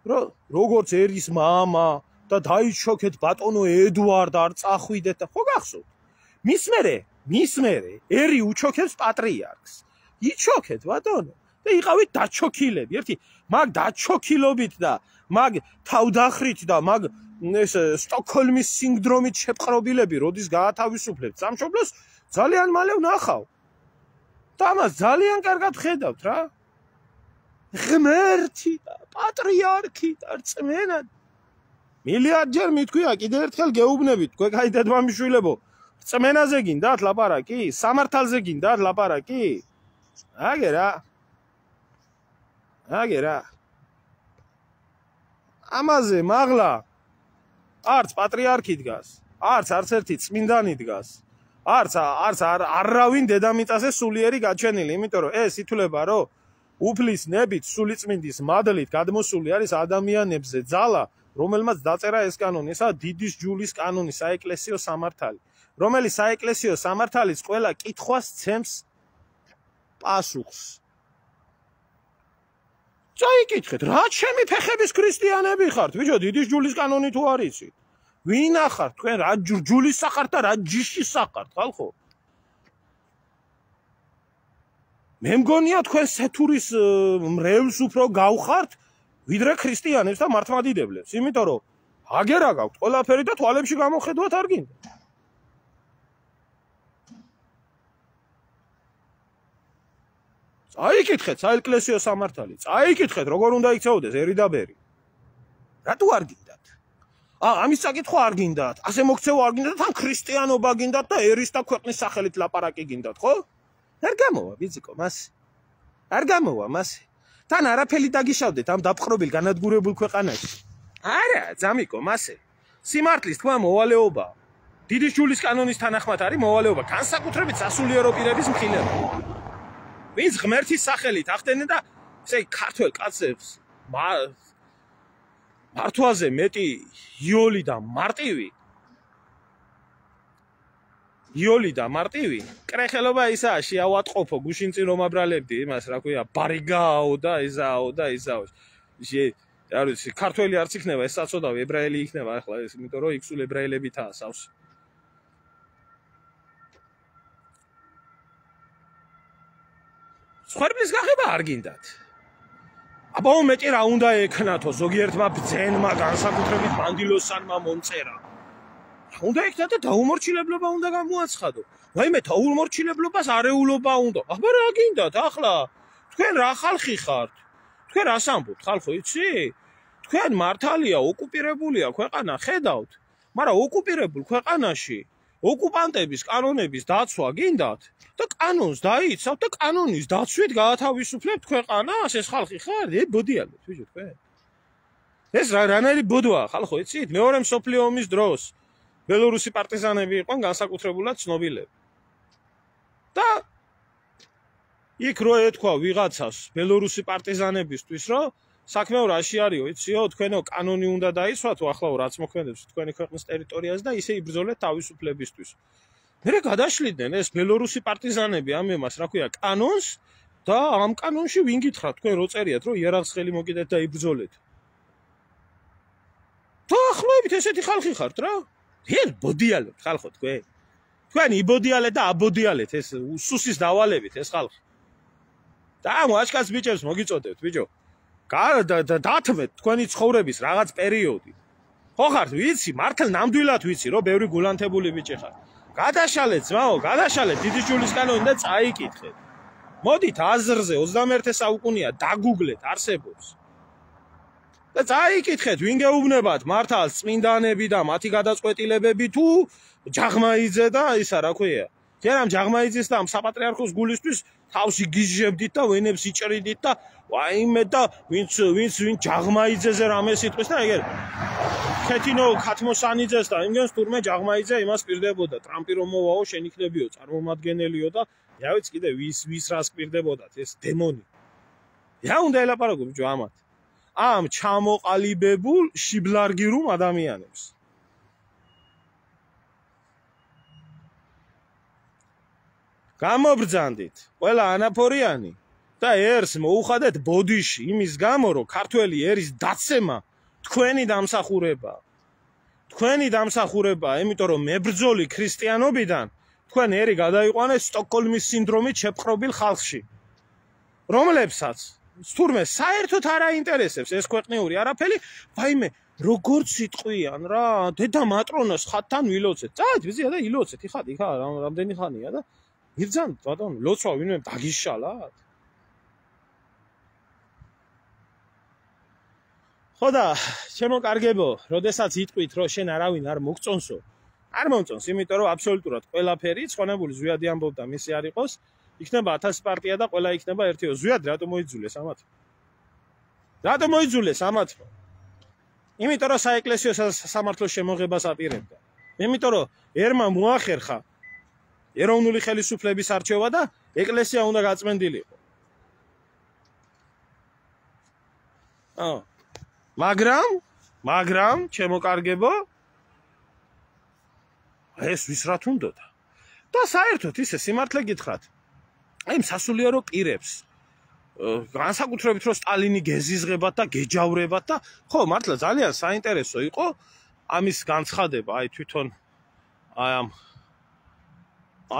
[SPEAKER 1] რომ როგორც ერის მამა და დაიჩოქეთ ბატონო ედუარდ არ წახვიდეთ და ხო გახსოვთ? მის მერე, მის მერე ერი უჩოქებს პატრიარქს. იჩოქეთ ბატონო და იყავით დაჩოქილები. ერთი მაგ დაჩოქილობით და მაგ თავდახრით და მაგ ეს სტოკჰოლმის სინდრომით შეპყრობილები როდის გაათავისუფლებთ სამშობლოს ძალიან მალე ვნახავ. და ამას ძალიან კარგად ხედავთ რა. ღმერთი და პატრიარქი და რწმენა. მილიარდჯერ მithქვია კიდევ ერთხელ გეუბნებით, თქვენ კაი დედმამიშვილებო, რწმენაზე გინდათ ლაპარაკი? სამართალზე გინდათ ლაპარაკი? აგერა. აგერა. ამაზე მაღლა არც პატრიარქი დგას, არც არც ერთი წმინდანი დგას. არც არც არავინ დედამიწაზე სულიერი გაჩენილი, იმიტომ რომ ეს ითვლება რომ უფლის ნებით სულიწმინდის მადლით გადმოსული არის ადამიანებზე ძალა, რომელმაც დაწერა ეს კანონი, ესაა დიდის ჯულის კანონი, საეკლესიო სამართალი, რომელიც საეკლესიო სამართალის ყველა კითხვას ცემს პასუხს. წაიკითხეთ, რა ჩემი ფეხების ქრისტიანები ხართ, ბიჭო, დიდის ჯულის კანონი თუ არ იცით? ვინ ახართ თქვენ, რა ჯულის სახართ და რა ჯიშის სახართ, ხალხო? მე მგონია თქვენ სეთურის მრევლს უფრო გავხართ, ვიდრე ქრისტიანებს და მართლმადიდებლებს, იმიტომ რომ აგერა გაქვთ ყველაფერი და თვალებში გამოხედვათ არ გინდა. წაიკითხეთ საეკლესიო სამართალი, წაიკითხეთ როგორ უნდა იქცეოდეს ერი და ბერი. რატო არ გინდათ? აა ამის საკითხვა არ გინდათ, ასე მოქცევა არ გინდათ, თან ქრისტიანობა გინდათ და ერის და ქვეყნის სახელით ლაპარაკი გინდათ, ხო? არ გამოვა ბიძიკო მასე. არ გამოვა მასე. თან არაფერი დაგიშავდეთ ამ დაპყრობილ განადგურებულ ქვეყანაში. არა, ძამიკო მასე. სიმართლის თქვა მოვალეობა. დიდის ჯულის კანონის თანახმად არის მოვალეობა, განსაკუთრებით სასულიერო პირების მხილება. ვინც ღმერთის სახელით ახდენენ და ესე ქართველ კაცებს მართვაზე მეტი იოლი და მარტივი იოლი და მარტივი კრეხელობა ისაა შეავატყოფო გუშინ წინ რომ აბრალებდი იმას რა ქვია ბარიგაო და ეზაო და ეზაო არ ვიცი ქართველი არც იქნება ეს საწოდავი ებრაელი იქნება ახლა ეს იმიტომ რომ იქ სულ ებრაელებითაა სავსე სხვერპლის გახება არ გინდათ. აბა მეტი რა უნდა ექნათო ზოგიერთმა ბძენმა განსაკუთრებით მანდილოსანმა მომწერა. რა უნდა ექნა და დაუმორჩილებლობა უნდა გამოაცხადო. ვაიმე დაუმორჩილებლობას არეულობა უნდა. აბა რა გინდათ ახლა? თქვენ რა ხალხი ხართ? თქვენ რას ამბობთ ხალხო იცი? თქვენ მართალია ოკუპირებულია ქვეყანა ხედავთ, მაგრამ ოკუპირებულ ქვეყანაში ოკუპანტების კანონების დაცვა გინდათ? და კანონს დაიცავთ და კანონის დაცვით გაათავისუფლებთ ქვეყანას, ეს ხალხი ხარ? ე ბოდიალეთ, ბიჭო თქვენ. ეს რა რანაირი ბოდვაა, ხალხო, იცით? მეორე მსოფლიო ომის დროს ბელორუსი პარტიზანები იყვნენ განსაკუთრებულად ცნობილები. და იქ რო ეთქვა ვიღაცას ბელორუსი პარტიზანებისთვის, რომ საქმე რაში არისო, იციო, თქვენო კანონი უნდა დაიცვათო, ახლა რაც მოქმედებს თქვენი ქვეყნის ტერიტორიაზე და ისე იბრძოლეთ თავისუფლებისთვის. მერე გადაშლიდნენ ეს ბელორუსი პარტიზანები ამ იმას, რა ქვია, კანონს და ამ კანონში ვინ გითხრათ თქვენ რო წერიათ, რომ იერარქს ხელი მოკიდეთ და იბრძოლეთ. დაახლოებით ესეთი ხალხი ხართ რა. რეალ ბოდიალებთ ხალხო თქვენ. თქვენ იბოდიალეთ და აბოდიალეთ ეს სუსის დავალებით ეს ხალხი. და ამ აშკაც ბიჭებს მოგიწოდებთ, ბიჭო. დათმეთ თქვენი ცხოვრების რაღაც პერიოდი. ხო ხართ, ვიცი, მართლა ნამდვილად ვიცი, რომ ბევრი გულანთებული ბიჭი ხართ. გადაშალეთ ძმაო, გადაშალეთ დიდი ჯულის კანონი და წაიკითხეთ. მოდით აზრზე ოცდამეერთე საუკუნეა დაგუგლეთ არსებობს. და წაიკითხეთ, ვინ გეუბნებათ მართალს წმინდანები და მათი გადაწყვეტილებები თუ ჯაღმაიძე და ისა რა ქვია. ჯერამ ჯაღმაიძეს და ამ საპატრიარქოს გულისთვის თავში გიჟებდით და ვენებს იჭრიდით და ვაიმე და ვინც ვინც ვინ ჯაღმაიძეზე რამე სიტყვის და ეგერ ქეთინო ქათმოსანიძეს და იმგენს თურმე ჯაღმაიძე იმას პირდებოდა ტრამპი რომ მოვაო შენ იქნებიო წარმომადგენლიო და რავიც კიდე ვის ვის რას პირდებოდათ ეს დემონი რა უნდა ელაპარაკო ბიჭო ამათ ამ ჩამოყალიბებულ შიბლარგირულ ადამიანებს გამობრძანდით ყველა ანაფორიანი და ერს მოუხადეთ ბოდიში იმის გამო რომ ქართველი ერის დაცემა თქვენი დამსახურება თქვენი დამსახურება იმიტომ რომ მებრძოლი ქრისტიანობიდან თქვენ ერი გადაიყვანეს სტოკჰოლმის სინდრომით შეპყრობილ ხალხში რომლებსაც თურმე საერთოდ არ აინტერესებს ეს ქვეყნიური არაფერი ვაიმე როგორც სიტყვიან რა დედა მატრონას ხათთან ვილოცეთ წავით ვიზია და ილოცეთ იხად იქა რამდენი ხანია და იბძანთ ბატონო ლოცვა ვინმე დაგიშალათ ხოდა ჩემო კარგებო როდესაც იტყვით რომ შენ არავინ არ მოგწონსო არ მომწონს იმიტომ რომ აბსოლუტურად ყველაფერი ცხონებული ზვიადი ამბობდა მისი არ იყოს იქნება ათასი პარტია და ყველა იქნება ერთიო ზვიად რატომ მოიძულეს ამათ რატომ მოიძულეს ამათ იმიტომ რომ საეკლესიო სამართლოს შემოღებას აპირებდა იმიტომ რომ ერმა მოახერხა ეროვნული ხელისუფლების არჩევა და ეკლესია უნდა გაწმენდილიყო აა მაგრამ მაგრამ ჩემო კარგებო ეს ვის რა თუნდოდა და საერთოდ ისე სიმართლე გითხრათ აი სასულიერო პირებს განსაკუთრებით რომ სტალინი გეზიზღებათ და გეჯავრებათ და ხო მართლა ძალიან საინტერესო იყო ამის განცხადება აი თვითონ აი ამ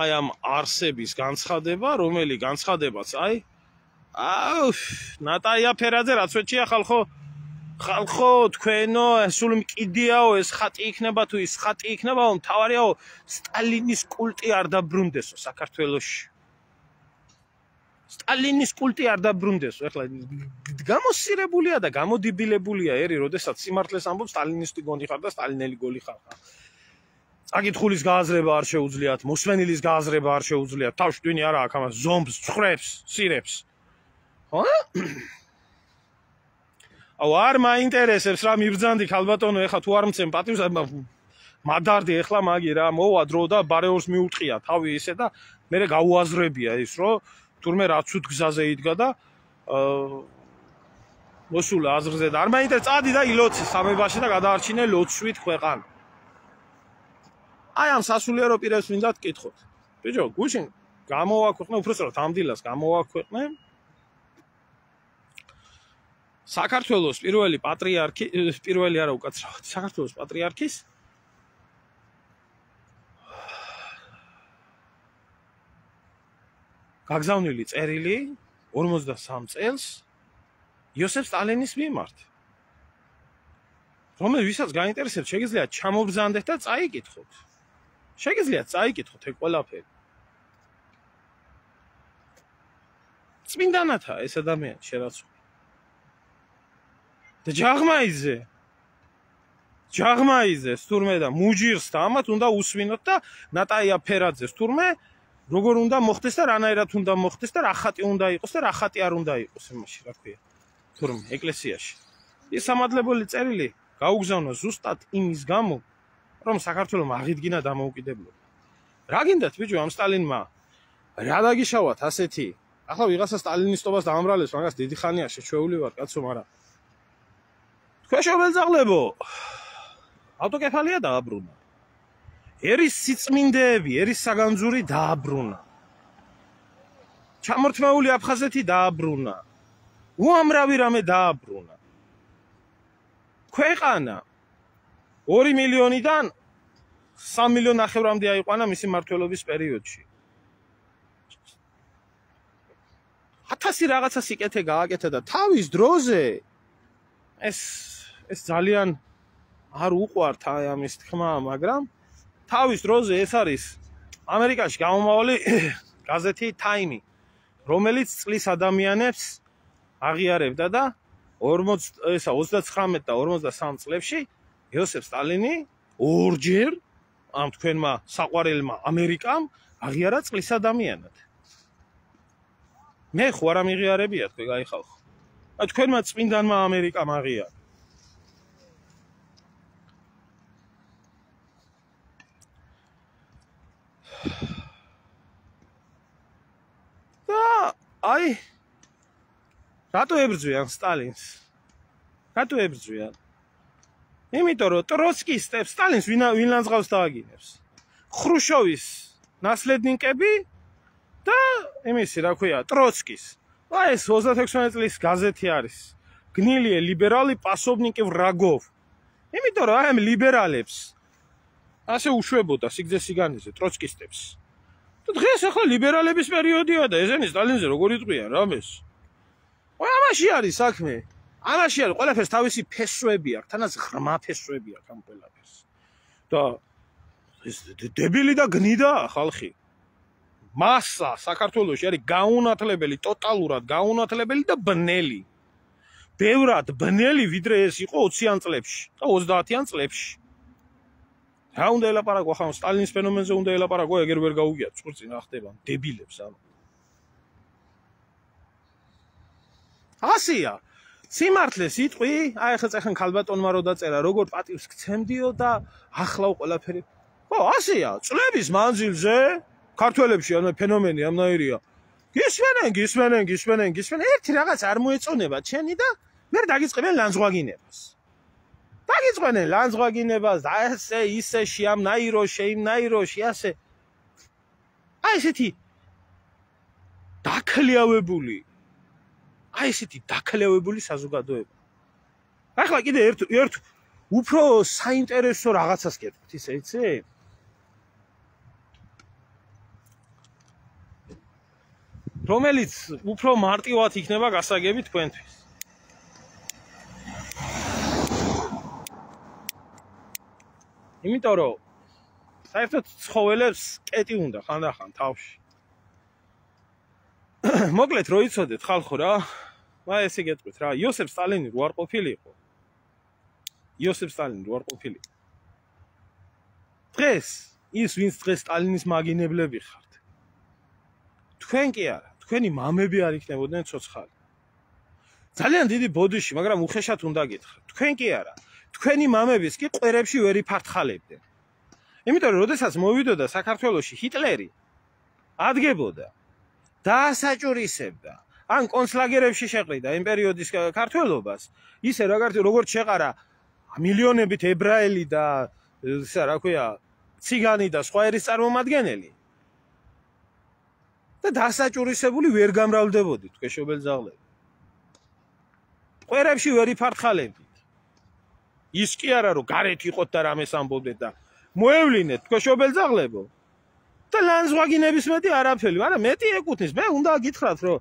[SPEAKER 1] აი ამ არსების განცხადება რომელი განცხადებაც აი აუ ნატაია ფერაძე რაც ვეჭია ხალხო ხალხო თქვენო სულ მკიდიაო ეს ხატი იქნება თუ ის ხატი იქნებაო მთავარიაო სტალინის კულტი არ დაბრუნდესო საქართველოში სტალინის კულტი არ დაბრუნდესო ეხლა გამოსირებულია და გამოდიბილებულია ერი როდესაც სიმართლეს ამბობს სტალინისტი გონი ხარ და სტალინელი გოლი ხარ წაკითხulis გააზრება არ შეუძლიათ მოსვენილის გააზრება არ შეუძლიათ თავშტვინი არა აქ ამას ზომბს ცხრებს სირებს ხო აუ არ მაინტერესებს რა მიბრძანდი ქალბატონო ეხლა თუ არ მცემ პატივს მადარდი ეხლა მაგი რა მოვა დრო და ბარეორს მიუტყია თავი ისე და მე გაუაზრებია ის რომ თურმე რაც უთქ გზაზე იდგა და მოსულა აზრზე და არ მაინტერესებს წადი და ილოცი სამებაში და გადაარჩინე ლოცვით ქვეყანა აი ამ სასულიერო პირებს მინდა გკითხოთ ბიჭო გუშინ გამოვაქვეყნე უბრალოდ ამდილას გამოვაქვეყნე საქართველოს პირველი პატრიარქი პირველი არა უკაცრავად საქართველოს პატრიარქის გაგზავნილი წერილი ორმოცდასამ წელს იოსებ სტალინის მიმართ რომელიც ვისაც გაინტერესებს შეგიძლიათ ჩამობრძანდეთ და წაიკითხოთ შეგიძლიათ წაიკითხოთ ეგ ყველაფერი წმინდანათა ეს ადამიანი შერაცული და ჯაღმაიძე ჯაღმაიძეს თურმე და მუჯირს და ამათ უნდა უსვინოთ და ნატაია ფერაძეს თურმე როგორ უნდა მოხდეს და რანაირად უნდა მოხდეს და რა ხატი უნდა იყოს და რა ხატი არ უნდა იყოს იმაში რა ქვია თურმე ეკლესიაში ის სამადლებელი წერილი გაუგზავნა ზუსტად იმის გამო რომ საქართველოს აღიდგინა დამოუკიდებლობა რა გინდათ ბიჭო ამ სტალინმა რა დაგიშავათ ასეთი ახლა ვიღაცა სტალინისტობას დაამრალებს მაგას დიდი ხანია შეჩვეული ვარ კაცო მაგრამ ქვეშობელძაღლებო ავტოკეფალია დააბრუნა ერის სიწმინდეები ერის საგანძური დააბრუნა ჩამორთმეული აფხაზეთი დააბრუნა უამრავი რამე დააბრუნა ქვეყანა ორი მილიონიდან სამი მილიონ ნახევრამდე აიყვანა მისი მმართველობის პერიოდში ათასი რაღაცა სიკეთე გააკეთა და თავის დროზე ეს ეს ძალიან არ უყვართ აი ამის თქმა მაგრამ თავის დროზე ეს არის ამერიკაში გამომავალი გაზეთი Time რომელიც წლის ადამიანებს აღიარებდა და ორმოც ესა ოცდაცხრამეტ და ორმოცდასამ წლებში იოსებ სტალინი ორჯერ ამ თქვენმა საყვარელმა ამერიკამ აღიარა წლის ადამიანად მე ხო არ ამიღიარებია თქვენ გაიხალხო აი თქვენმა წმინდანმა ამერიკამ აღიარა და აი რატო ებრძვიან სტალინს? რატო ებრძვიან? იმიტომ რომ ტროცკის სტალინს ვინ ვინ ლანძღავს დააგინებს? ხრუშოვის ნასლედნიკები და იმისი რა ქვია ტროცკის აი ეს ოცდაექვსი წლის გაზეთი არის გნილი ლიბერალი პასობნიკი ვრაგოვ იმიტომ რომ აი ამ ლიბერალებს ასე უშვებოდა სიგრძე სიგანეზე ტროცკისტებს და დღეს ახლა ლიბერალების პერიოდია და ესენი სტალინზე როგორ იტყვიან რამეს ой ამაში არის საქმე ამაში არის ყველაფერს თავისი ფესვები აქვს თანაც ღრმა ფესვები აქვს ამ ყველაფერს და ეს დებილი და გნიდა ხალხი მასა საქართველოში არის გაუნათლებელი ტოტალურად გაუნათლებელი და ბნელი ბევრად ბნელი ვიდრე ეს იყო ოციან წლებში და ოცდაათიან წლებში რა უნდა ელაპარაკო ხომ სტალინის ფენომენზე უნდა ელაპარაკო ეგერ ვერ გაუგიათ წყურწინ რა ხდება დებილებს ანუ ასია სიმართლე სიტყვი აი ხა წახან ქალბატონმა რო დაწერა როგორ პატივს გცემდიო და ახლა ყველაფერი ხო ასია წლების მანძილზე ქართველებში ანუ ფენომენი ამნაირია გისმენენ გისმენენ გისმენენ გისმენენ ერთი რაღაც არ მოეწონება ჩენი და მე დაგიწყებენ ლანძღვაგინებას დაგიწყებენ ლანძღვაგინებას და ესე ისე შეამნაირო შეიმნაიროში ასე აი ესეთი დაქლიავებული აი ესეთი დაქლიავებული საზოგადოება ახლა კიდე ერთ ერთ უფრო საინტერესო რაღაცას გეტყვით ისე იცი რომელიც უფრო მარტივად იქნება გასაგები თქვენთვის იმიტომ რომ საერთოდ ცხოველებს კეტი უნდა ხანდახან თავში მოკლედ რო იცოდეთ ხალხო რა აი ესე გეტყვით რა იოსებ სტალინი რო არ ყოფილიყო იოსებ სტალინი რო არ ყოფილიყო დღეს ის ვინც დღეს სტალინის მაგინებლები ხართ თქვენ კი არა თქვენი მამები არ იქნებოდნენ ცოცხალი ძალიან დიდი ბოდიში მაგრამ უხეშად უნდა გითხრათ თქვენ კი არა თქვენი მამების კი ყვერებში ვერ იფართხალებდნენ იმიტომ რომ როდესაც მოვიდოდა საქართველოში ჰიტლერი ადგებოდა დაასაჭურისებდა ან კონცლაგერებში შეყრიდა იმ პერიოდის ქართველობას ისე როგორც შეყარა მილიონებით ებრაელი და ისა რა ქვია ციგანი და სხვა ერის წარმომადგენელი და დასაჭურისებული ვერ გამრავლდებოდით ქვეშობელძაღლები ყვერებში ვერ იფართხალებდით ის კი არა რომ გარეთ იყოთ და რამეს ამბობდეთ და მოევლინეთ ქვეშობელძაღლებო და ლანძღვაგინების მეტი არაფერი მაგრამ მეტი ეკუთვნის მე უნდა გითხრათ რომ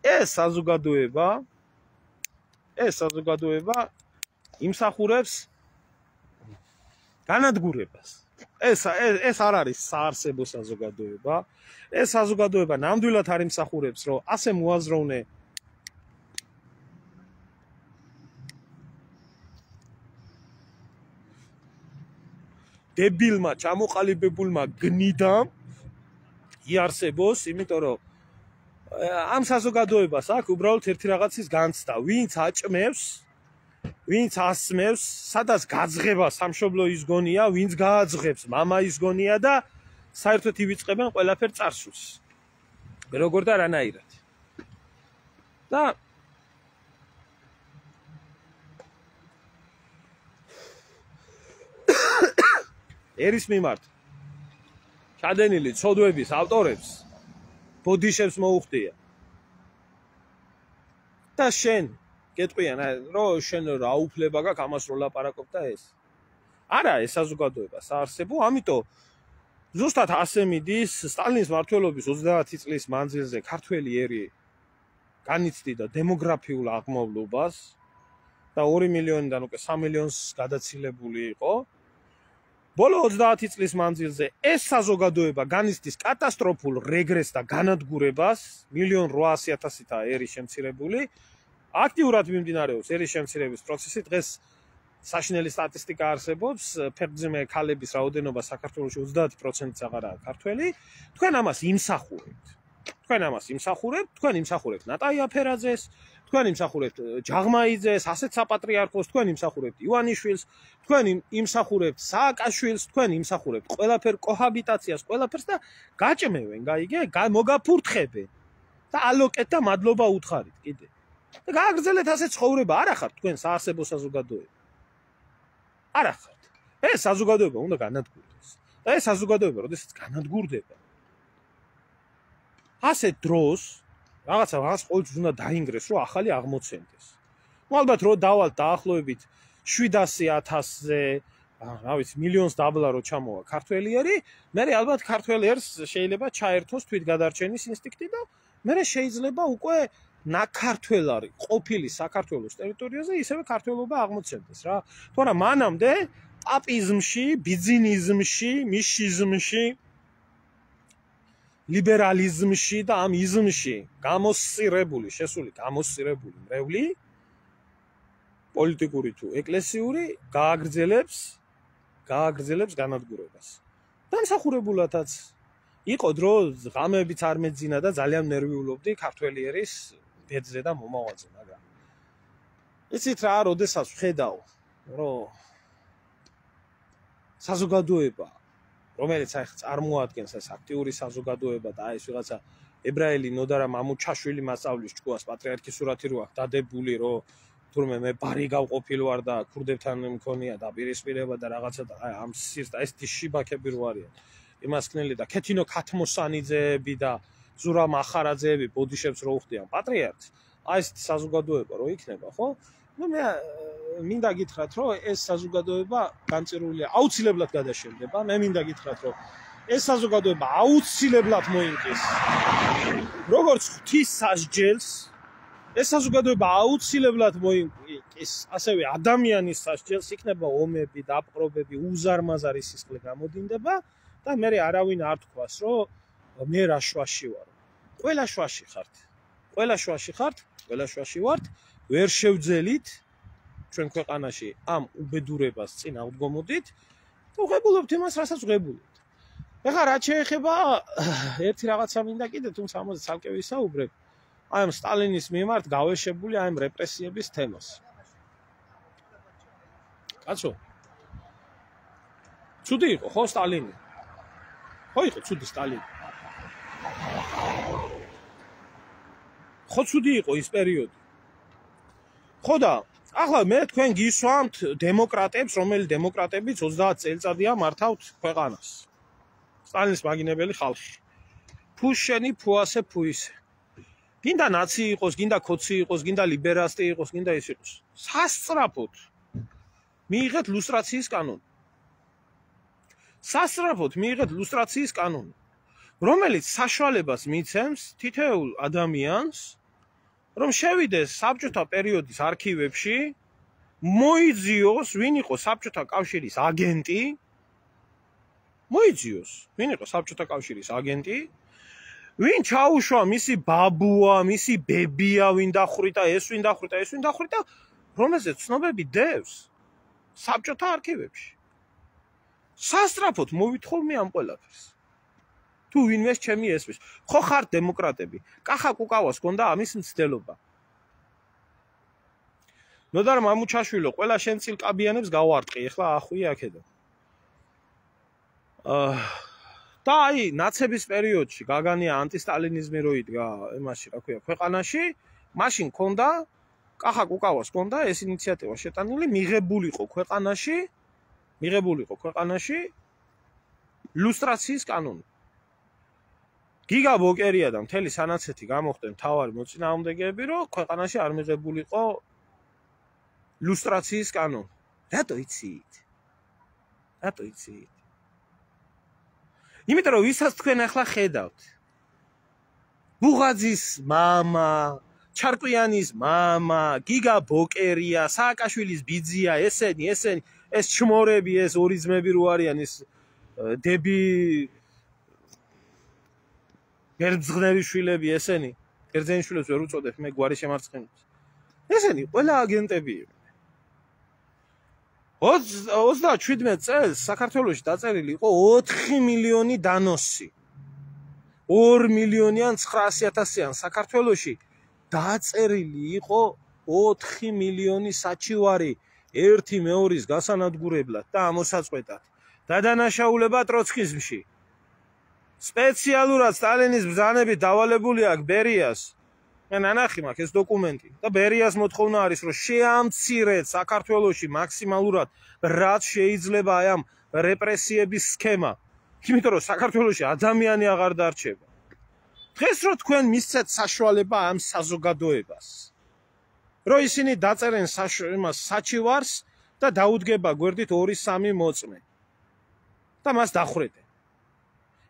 [SPEAKER 1] ეს საზოგადოება ეს საზოგადოება იმსახურებს განადგურებას ეს ეს არ არის საარსებო საზოგადოება ეს საზოგადოება ნამდვილად არ იმსახურებს რომ ასე მოაზროვნე დებილმა ჩამოყალიბებულმა გნიდამ იარსებოს იმიტომ რომ ამ საზოგადოებას აქვს უბრალოდ ერთი რაღაცის განცდა ვინც აჭმევს ვინც ასმევს სადაც გაძღება სამშობლო ის გონია ვინც გააძღებს მამა ის გონია და საერთოდ ივიწყებენ ყველაფერ წარსულს როგორ და რანაირად და ერის მიმართ ჩადენილი ცოდვების ავტორებს ბოდიშებს მოუხდია და შენ გეტყვიან რომ შენ რა უფლება გაქვს ამას რო ლაპარაკობ და ეს არა ეს საზოგადოება საარსებო ამიტომ ზუსტად ასე მიდის სტალინის მმართველობის ოცდაათი წლის მანძილზე ქართველი ერი განიცდიდა დემოგრაფიულ აღმავლობას და ორი მილიონიდან უკვე სამ მილიონს გადაცილებული იყო ბოლო ოცდაათი წლის მანძილზე ეს საზოგადოება განიცდის კატასტროფულ რეგრესს და განადგურებას მილიონ რვაასი ათასითაა ერი შემცირებული აქტიურად მიმდინარეობს ერის შემცირების პროცესი დღეს საშინელი სტატისტიკა არსებობს ფერმზე ქალების რაოდენობა საქართველოში ოცდაათი პროცენტიც აღარაა ქართველი თქვენ ამას იმსახურებთ თქვენ ამას იმსახურებთ თქვენ იმსახურებთ ნატაი აფერაძეს თქვენ იმსახურებთ ჯაღმაიძეს ასეთ საპატრიარქოს თქვენ იმსახურებთ ივანიშვილს თქვენ იმსახურებთ სააკაშვილს თქვენ იმსახურებთ ყველაფერ კოჰაბიტაციას ყველაფერს და გაჭმევენ გაიგე მოგაფურთხებენ და ალოკეთ და მადლობა უთხარით კიდე და გააგრძელეთ ასე ცხოვრება არ ახართ თქვენ საარსებო საზოგადოება არ ახართ ეს საზოგადოება უნდა განადგურდეს და ეს საზოგადოება როდესაც განადგურდება ასეთ დროს რაღაცა რაღაც ყოველთვის უნდა დაინგრეს, რომ ახალი აღმოცენდეს. ნუ ალბათ რო დავალთ დაახლოებით შვიდასი ათასზე, რა ვიცი, მილიონს დაბლა რო ჩამოვა ქართველიერი, მე ალბათ ქართველიერს შეიძლება ჩაერთოს თვითგადარჩენის ინსტინქტი და მე შეიძლება უკვე ნაქართველარი ყოფილი საქართველოს ტერიტორიაზე ისევე ქართველობა აღმოცენდეს რა. თორემ მანამდე პაპიზმში, ბიზნიზმში, მიშიზმში, ლიბერალიზმში და ამ იზმში გამოსწირებული, შესული გამოსწირებული მრევლი პოლიტიკური თუ ეკლესიური გააგრძელებს გააგრძელებს განადგურებას. დამსახურებულადაც იყო დრო ღამეებიც არ მეძინა და ძალიან ნერვიულობდი ქართველიერის ბედზე და მომავალზე, მაგრამ იცით რა, როდესაც ვხედავ, რომ საზოგადოება, რომელიც აი წარმოადგენს ეს აქტიური საზოგადოება და აი ეს ვიღაცა ებრაელი ნოდარა მამუჩაშვილი მასწავლის ჭკუას პატრიარქის სურათი რო აქვს დადებული, რომ თურმე მე ბარი გავყოფილ ვარ და ქურდებთან მქონია დაპირისპირება და რაღაცა და აი ამ სირთა ეს შიბაქები რო არიან იმასკნელი და ქეთინო ქათმოსანიძეები და ზურა მახარაძეები ბოდიშებს რო უხდიან პატრიარქს, აი ეს საზოგადოება რო იქნება, ხო? ნუ მე მინდა გითხრათ, რომ ეს საზოგადოება განწირულია, აუცილებლად გადაშენდება. მე მინდა გითხრათ, რომ ეს საზოგადოება აუცილებლად მოინკის როგორც ღვთის სასჯელს, ეს საზოგადოება აუცილებლად მოინკის ასევე ადამიანის სასჯელს, იქნება ომები, დაპყრობები, უზარმაზარი სისხლი გამოდინდება და მე არავინ არ თქვას, რომ მე რა შვაში ვარ. ყველა შვაში ხართ. ყველა შვაში ხართ, ყველა შვაში ვართ, ვერ შევძელით ჩვენ ქვეყანაში ამ უბედურებას წინ ავდგომოდით და ვღებულობთ იმას, რასაც ვღებულობთ. ეხლა რაც შეეხება ერთი რაღაცა მინდა კიდე, თუმცა ამაზე ცალკე ვისაუბრებ. აი ამ სტალინის მიმართ გავეშებული აი ამ რეპრესიების თემას. კაცო. ცუდი იყო ხო სტალინი? ხო იყო ცუდი სტალინი. ხო ცუდი იყო ის პერიოდი. ხო და ახლა მე თქვენ გისვამთ დემოკრატებს, რომელი დემოკრატებიც ოცდაათ წელიწადია მართავთ ქვეყანას. სტალინის მაგინებელი ხალხი. ფუშენი ფუასე ფუისე. გინდა ნაცი იყოს, გინდა ქოცი იყოს, გინდა ლიბერასტი იყოს, გინდა ის იყოს. სასწრაფოდ მიიღეთ ლუსტრაციის კანონი. სასწრაფოდ მიიღეთ ლუსტრაციის კანონი, რომელიც საშუალებას მიცემს თითოეულ ადამიანს, რომ შევიდეს საბჭოთა პერიოდის არქივებში, მოიძიოს, ვინ იყო საბჭოთა კავშირის აგენტი, მოიძიოს, ვინ იყო საბჭოთა კავშირის აგენტი, ვინ ჩაუშვა მისი ბაბუა, მისი ბებია, ვინ დახვრიტა, ეს ვინ დახვრიტა, ეს ვინ დახვრიტა, რომელზეც ცნობები დევს საბჭოთა არქივებში. სასწრაფოდ მოვითხოვ მე ამ ყველაფერს. თუ ვინმეს ჩემი ესმის, ხო ხართ დემოკრატები. კახა კუკავას ჰქონდა ამის მცდელობა. ნოდარ მამუჩაშვილო, ყველა შენ წილკაბიანებს გავარტყი, ეხლა ახვი აქედან. აა და აი ნაცების პერიოდში გაგანია ანტისტალინიზმი რო იდგა იმაში, რა ქვია, ქვეყანაში, მაშინ ჰქონდა კახა კუკავას ჰქონდა ეს ინიციატივა შეტანილი, მიღებულიყო ქვეყანაში, მიღებულიყო ქვეყანაში ლუსტრაციის კანონი. გიგა ბოკერია და მთელი სანაცეთი გამოხდნენ თავარი მოწინააღმდეგეები, რომ ქვეყანაში არ მიღებულიყო ლუსტრაციის კანონი. რატო იცით? რატო იცით? იმიტომ რომ ვისაც თქვენ ახლა ხედავთ. ბუღაძის მამა, ჩარკვიანის მამა, გიგა ბოკერია, სააკაშვილის ბიძია, ესენი, ესენი, ეს ჩმორები, ეს ორიზმები რო არიან, ეს დები გერძღნევი შვილები, ესენი, გერძენიშვილებს ვერ უწოდებ, მე გვარი შემარცხენებს. ესენი ყველა აგენტები. ოცდაშვიდმეტ წელს საქართველოში დაწერილი იყო ოთხი მილიონი დანოსი. ორი მილიონიან ცხრაასი ათასიან საქართველოში დაწერილი იყო ოთხი მილიონი საჩივარი ერთი მეორის გასანადგურებლად და ამოსაწყვეტად. და დანაშაულება ტროცკიზმში. სპეციალურად სტალინის ბრძანებით დავალებული აქვს ბერიას. მე ნანახი მაქვს ეს დოკუმენტი და ბერიას მოთხოვნა არის, რომ შეამცირეთ საქართველოში მაქსიმალურად რაც შეიძლება აი ამ რეპრესიების სქემა. იმიტომ რომ საქართველოში ადამიანი აღარ დარჩება. დღეს რო თქვენ მისცეთ საშუალება ამ საზოგადოებას რომ ისინი დაწერენ იმას საჩივარს და დაუდგება გვერდით ორი სამი მოწმე და მას დახრედენ.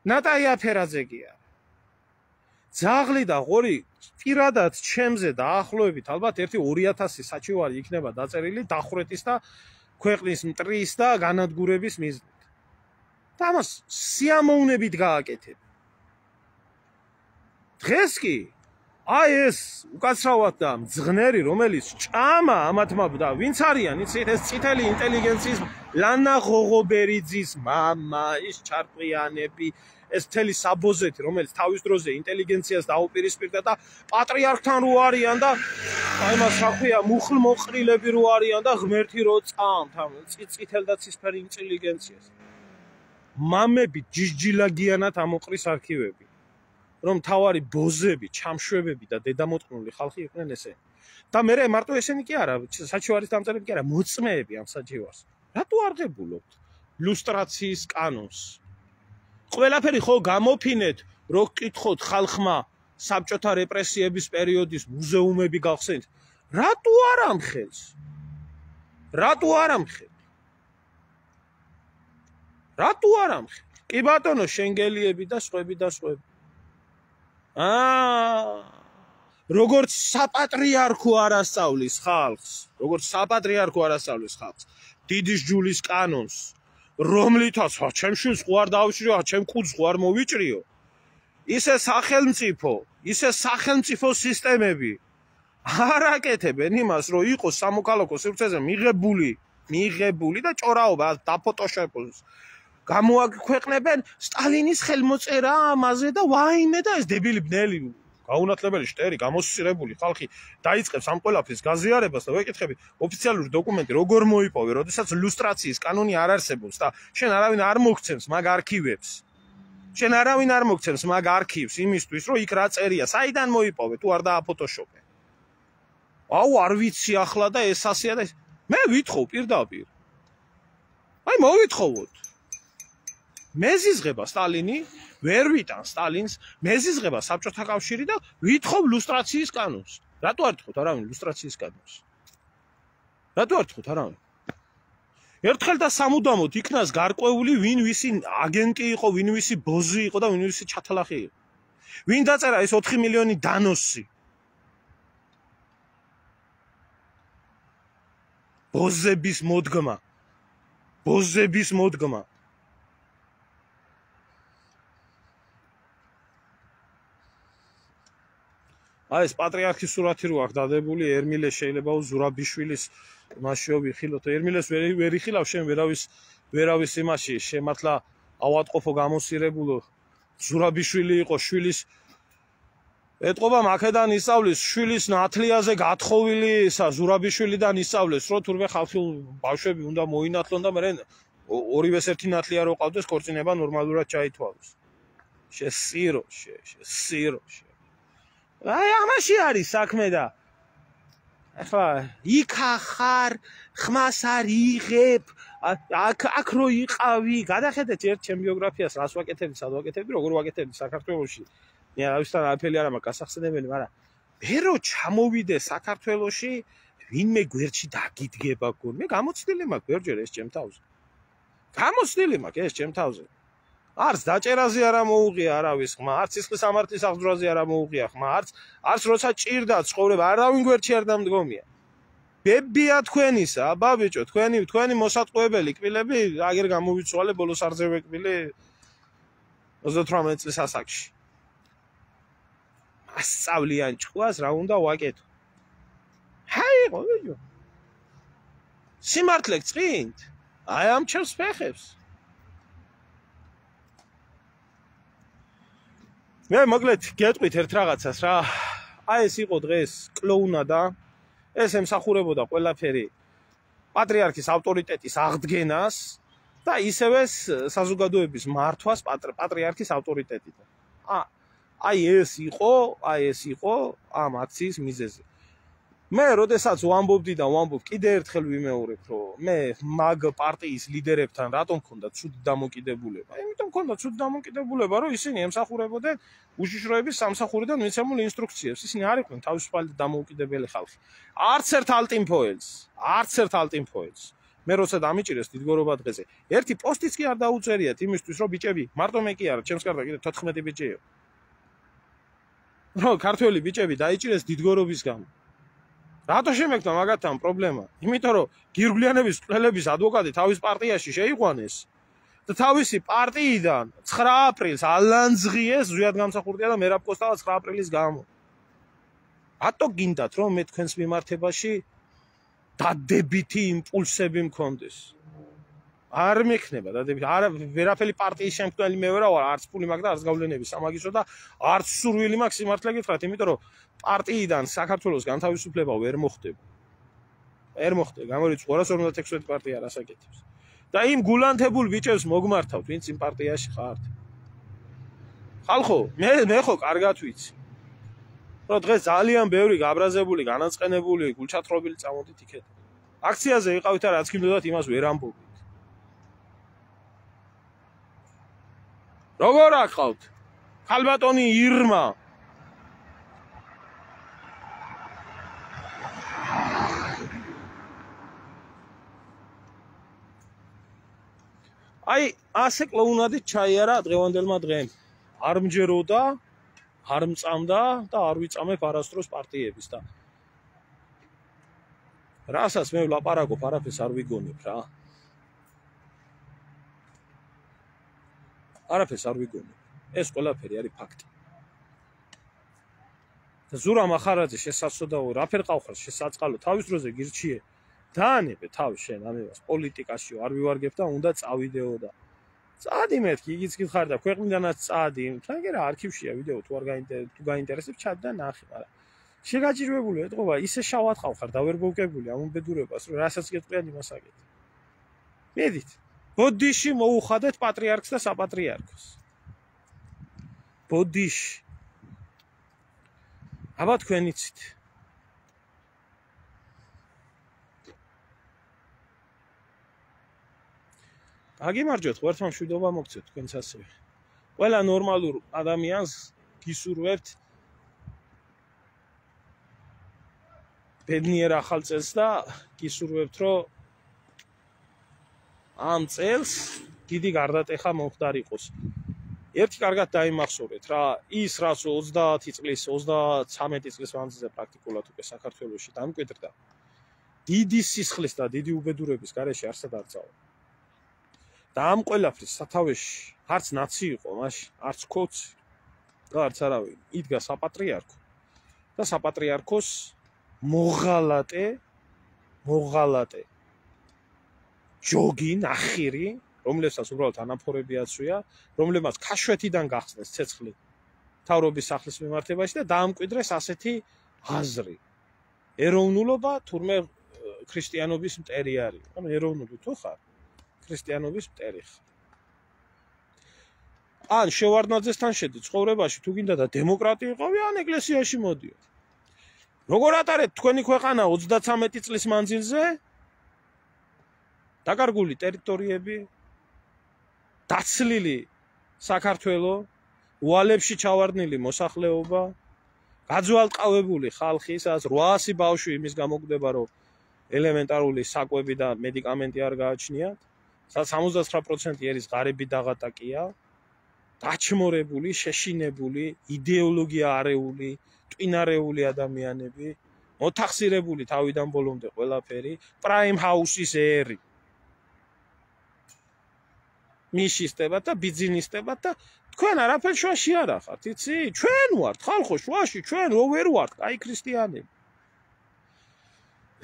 [SPEAKER 1] ნატაია ფერაძე კი არა. ძაღლი და ღორი პირადად ჩემზე დაახლოებით ალბათ ერთი ორი ათასი საჩივარი იქნება დაწერილი დახრეთის და ქვეყნის მტრის და განადგურების მიზნით. და ამას სიამოვნებით გააკეთებ. დღეს კი აი ეს უკაცრავად და მძღნერი რომელიც ჭამა ამათმა და ვინც არიან იცით ეს წითელი ინტელიგენციის ლანა ღოღობერიძის მამა ის ჩარკვიანები ეს მთელი საბოზეთი რომელიც თავის დროზე ინტელიგენციას დაუპირისპირდა და პატრიარქთან რო არიან და აი მას რა ქვია მუხლმოყრილები რო არიან და ღმერთი რო წამთ ამ წითელ და ცისფერ ინტელიგენციას მამები ჯიჯილაგიანად ამოყრის არქივები რომ თავარი ბოზები, ჩამშვებები და დედამოწყნული ხალხი იყვნენ ესენი. და მე მარტო ესენი კი არა, საჩივარის დამწერები კი არა, მოწმეები ამ საჩივარს. რატო არღებულობთ ლუსტრაციის კანონს? ყველაფერი ხო გამოფინეთ, რო გკითხოთ ხალხმა საბჭოთა რეპრესიების პერიოდის მუზეუმები გახსენთ. რატო არ ამხელს? რატო არ ამხელს? რატო არ ამხელს? კი ბატონო, შენგელიები და სხვები და სხვები. აა როგორც საპატრიარქო არასწავლის ხალხს, როგორც საპატრიარქო არასწავლის ხალხს, დიდი ჯულის კანონს, რომლითაც ჩემ შვილს ხო არ დავშრიო, ჩემ კუძს ხო არ მოვიჭრიო. ისე სახელმწიფო, ისე სახელმწიფო სისტემები არ აკეთებენ იმას, რომ იყოს სამოქალაქო სივრცეზე მიღებული, მიღებული და ჭორაობა დაფოტოშოპოს. გამოაქვეყნებენ სტალინის ხელმოწერა ამაზე და ვაიმე და ეს დებილი ბნელი გაუნათლებელი შტერი გამოსწირებული ხალხი დაიწყებს ამ ყველაფრის გაზიარებას და ვეკითხები ოფიციალური დოკუმენტი როგორ მოიპოვე, როდესაც ლუსტრაციის კანონი არ არსებობს და შენ არავინ არ მოგცემს მაგ არქივებს. შენ არავინ არ მოგცემს მაგ არქივს იმისთვის, რომ იქ რა წერია, საიდან მოიპოვე, თუ არ დააფოტოშოპე. აუ არ ვიცი ახლა და ეს ასეა და მე ვითხოვ პირდაპირ. აი მოვითხოვოთ. მეზიზღება სტალინი, ვერ ვიტან სტალინს, მეზიზღება საბჭოთა კავშირი და ვითხოვ ლუსტრაციის კანონს. რატო არ თხოვთ არავინ ლუსტრაციის კანონს? რატო არ თხოვთ არავინ? ერთხელ და სამუდამოდ იქნას გარკვეული ვინ ვისი აგენტი იყო, ვინ ვისი ბოზი იყო და ვინ ვისი ჩათალახი იყო. ვინ დაწერა ეს ოთხი მილიონი დანოსი? ბოზების მოდგმა. ბოზების მოდგმა. აი ეს პატრიარქის სურათი რო აქვს დადებული, ერმილე შეიძლება ზურაბიშვილის მასშიო ვიხილოთ. ერმილეს ვერ იხილავ შენ ვერავის ვერავის იმაში შემართლა ავატყოფო გამოსირებულო ზურაბიშვილი იყო შვილის ეტყობა მაქედან ისწავლის შვილის ნათლიაზე გათხოვილი ისა ზურაბიშვილიდან ისწავლეს რომ თურმე ხალხი ბავშვები უნდა მოინათლონ და მე ორივეს ერთი ნათლია რო ყავდეს ქორწინება ნორმალურად ჩაითვალოს. შესირო შესირო აი ამაში არის საქმე და ახლა იქა ხარ ხმას არ იღებ აქ აქ რო იყავი გადახედეთ ერთ ჩემ ბიოგრაფიას რას ვაკეთებდი სად ვაკეთებდი როგორ ვაკეთებდი საქართველოში მე არავისთან არაფერი არ მაქვს გასახსენებელი მაგრამ მე რო ჩამოვიდე საქართველოში ვინმე გვერდში დაგიდგება გონ მე გამოცდილი მაქვს ბევრჯერ ეს ჩემ თავზე გამოცდილი მაქვს ეს ჩემ თავზე არც დაჭერაზე არა მოუღია არავის ხმა, არც სისხლის სამართლის აღძვრაზე არა მოუღია ხმა, არც არც როცა ჭირდა ცხოვრება, არავინ გვერდში არ დამდგომია. ბებია თქვენისა, აბა ბიჭო, თქვენი თქვენი მოსატყუებელი კბილები, აგერ გამოვიცვალე ბოლოს არზე ვეკბილე ოცდათვრამეტ წლის ასაკში. მასწავლიან ჭყვას რა უნდა ვაკეთო. ჰაი, ყო. სიმართლე გწინთ? აი ამ ჩემს ფეხებს. მე მოკლედ გეტყვით ერთ რაღაცას რა. აი ეს იყო დღეს კლოუნადა. ეს ემსახურებოდა ყველაფერი პატრიარქის ავტორიტეტის აღდგენას და ისევე საზოგადოების მართვას პატრიარქის ავტორიტეტიდან. აი ეს იყო, აი ეს იყო ამ აქციის მიზეზი. მე როდესაც ვამბობდი და ვამბობ კიდე ერთხელ ვიმეორებ, რომ მე მაგ პარტიის ლიდერებთან რატომ მქონდა ცუდი დამოკიდებულება? იმიტომ მქონდა ცუდი დამოკიდებულება, რომ ისინი ემსახურებოდნენ უშიშროების სამსახურიდან მიცემულ ინსტრუქციებს. ისინი არ იყვნენ თავისუფალი და დამოუკიდებელი ხალხი. არც ერთ ალტიმფოელს, არც ერთ ალტიმფოელს. მე როცა დამიჭირეს დიდგორობა დღეზე, ერთი პოსტიც კი არ დაუწერიათ იმისთვის, რომ ბიჭები, მარტო მე კი არა, ჩემს კარდა კიდე თოთხმეტი ბიჭია. რომ ქართველი ბიჭები დაიჭირეს დიდგორობის გამო. რატო შემექნა მაგათთან პრობლემა? იმიტომ რომ გირგვლიანების მკვლელების ადვოკატი თავის პარტიაში შეიყვანეს და თავისი პარტიიდან ცხრა აპრილს ალანძღიეს ზვიად გამსახურდია და მერაბ კოსტავა ცხრა აპრილის გამო. რატო გინდათ რომ მე თქვენს მიმართებაში დადებითი იმპულსები მქონდეს? არ მექნება დადებითი. არა ვერაფერი პარტიის შემქმნელი მე ვერავარ, არც ფული მაქვს და არც გავლენები სამაგისო და არც სურვილი მაქვს სიმართლე გითხრათ, იმიტომ რომ პარტიიდან საქართველოს განთავისუფლება ვერ მოხდება. ვერ მოხდება, გამორიცხვა ორას ორმოცდაათი პარტია რას აკეთებს. და იმ გულანთებულ ბიჭებს მოგმართავთ, ვინც იმ პარტიაში ხართ. ხალხო, მე მე ხო კარგად ვიცი. რომ დღეს ძალიან ბევრი გაბრაზებული, განაწყენებული, გულჩათრობილი წამოდით იქეთ. აქციაზე იყავით და რაც გინდოდათ იმას ვერ ამბობთ. როგორ აკყავთ? ხალბატონი ირმა აი ასე კლოუნადით ჩაიარა დღევანდელმა დღემ. არ მჯეროდა, არ მწამდა და არ ვიწამებ არასდროს პარტიების და რასაც მე ვლაპარაკობ, არაფერს არ ვიგონებ რა. არაფერს არ ვიგონებ. ეს ყველაფერი არის ფაქტი. და ზურა მახარაძე შესაძოდაო, რაფერ ყავხარ შესაწყალო, თავის დროზე გირჩიე. დაანებე თავი შენ ამებას პოლიტიკაში არ ვივარგებ და უნდა წავიდეო და წადი მეთქი იგიც გითხარ და ქვეყნიდანაც წადი მაგრამ არქივშია ვიდეო თუ არ გაინტერესებს თუ გაინტერესებს ჩად და ნახე მაგრამ შეგაჭირვებული ეთყობა ისე შავად ყავხარ და ვერ მოვკებული ამ უბედურებას რომ რასაც გეტყვიან იმას აკეთე მედით ბოდიში მოუხადეთ პატრიარქს და საპატრიარქოს ბოდიში აბა თქვენ იცით აგიმარჯვეთ, ღერთმა მშვიდობა მოგცეთ თქვენც ასევე. ყველა ნორმალურ ადამიანს გისურვებთ ბედნიერ ახალ წელს და გისურვებთ, რომ ამ წელს დიდი გარდატეხა მომხდარიყოს. ერთი კარგად დაიმახსოვრეთ რა, ის რაც ოცდაათი წლის, ოცდათვრამეტი წლის მანძილზე პრაქტიკულად უკვე საქართველოში დამკვიდრდა, დიდი სისხლის და დიდი უბედურების გარეშე არსად არ წავა. და ამ ყველაფრის სათავეში არც ნაცი იყო მაშინ, არც ქოცი და არც არავინ. იდგა საპატრიარქო და საპატრიარქოს მოღალატე, მოღალატე ჯოგი, ნახირი, რომლებსაც უბრალოდ ანაფორები აცვია, რომლებმაც ქაშვეთიდან გახსნეს ცეცხლი მთავრობის სახლის მიმართებაში და დაამკვიდრეს ასეთი აზრი. ეროვნულობა თურმე ქრისტიანობის მტერი არის. ანუ ეროვნული თუ ხარ ქრისტიანობის მტერი ხარ. ან შევარდნაძესთან შედი ცხოვრებაში თუ გინდა და დემოკრატი იყავი, ან ეკლესიაში მოდიო. როგორ ატარეთ თქვენი ქვეყანა ოცდათვრამეტი წლის მანძილზე? დაკარგული ტერიტორიები, დაცლილი საქართველო, უალებში ჩავარდნილი მოსახლეობა, გაძვალტყავებული ხალხი, სადაც რვაასი ბავშვი იმის გამოკვდება, რომ ელემენტარული საკვები და მედიკამენტი არ გააჩნიათ, სადაც სამოცდათვრამეტი პროცენტი ერის ღარიბი დაღატაკია, დაჩმორებული, შეშინებული, იდეოლოგია არეული, ტვინარეული ადამიანები, მოთახსირებული თავიდან ბოლომდე ყველაფერი, პრაიმ ჰაუსის ერი. მიშისტებად და ბიძინისტებად და თქვენ არაფერ შუაში არ ახართ, იცი? ჩვენ ვართ ხალხო შუაში, ჩვენ რო ვერ ვართ, აი ქრისტიანები.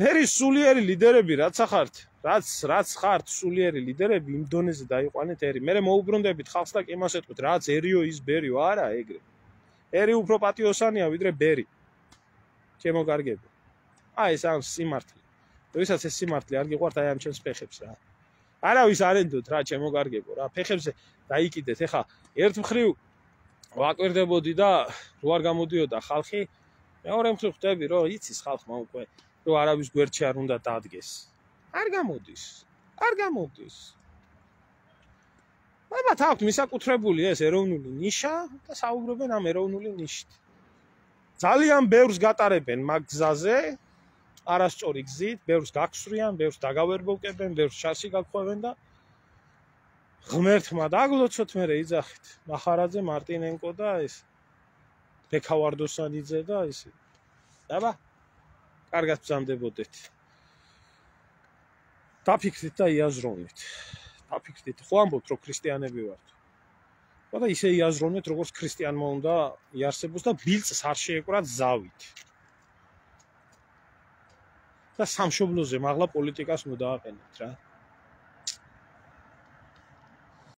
[SPEAKER 1] ერის სულიერი ლიდერები რაც ახართ, რაც რაც ხართ სულიერი ლიდერები იმ დონეზე დაიყვანეთ ერი. მე მოუბრუნდებით ხალხს და იმას ეთქვით, რაცერიო ის ბერიო, არა ეგრე. ერი უფრო პატიოსანია ვიდრე ბერი. ჩემო კარგებო. აი ეს ამ სიმართლე. როდესაც ეს სიმართლე არ გიყვართ, აი ამ ჩემს ფეხებს რა. არავის არ ენდოთ რა, ჩემო კარგებო რა. ფეხებზე დაიკიდეთ. ეხა ერთ მხრივ ვაკვირდებოდი და რო არ გამოდიოდა ხალხი, მეორე მხრივ ხვდები რომ იცის ხალხმა უკვე რომ არავის გვერდში არ უნდა დადგეს. არ გამოდის. არ გამოდის. ალბათ აქვთ მისაკუთრებული ეს ეროვნული ნიშა და საუბრობენ ამ ეროვნული ნიშით. ძალიან ბევრს გატარებენ მაგ გზაზე, არასწორი გზით, ბევრს გაგსვრიან, ბევრს დაგავერბოვკებენ, ბევრს შარში გაგხვევენ და ღმერთმა დაგლოცოთ მერე იძახით. მახარაძე, მარტინენკო და ეს ბექავარდოსანიძე და ისე. აბა, კარგად ბრძანდებოდეთ. დაფიქრდით და იაზროვნით. დაფიქრდით, ხო ამბობთ რომ ქრისტიანები ვართ. და ისე იაზროვნეთ, როგორც ქრისტიანმა უნდა იარსებოს და ბილწს არ შეეკვრათ ზავით. და სამშობლოზე მაღლა პოლიტიკას უნდა დააყენოთ რა.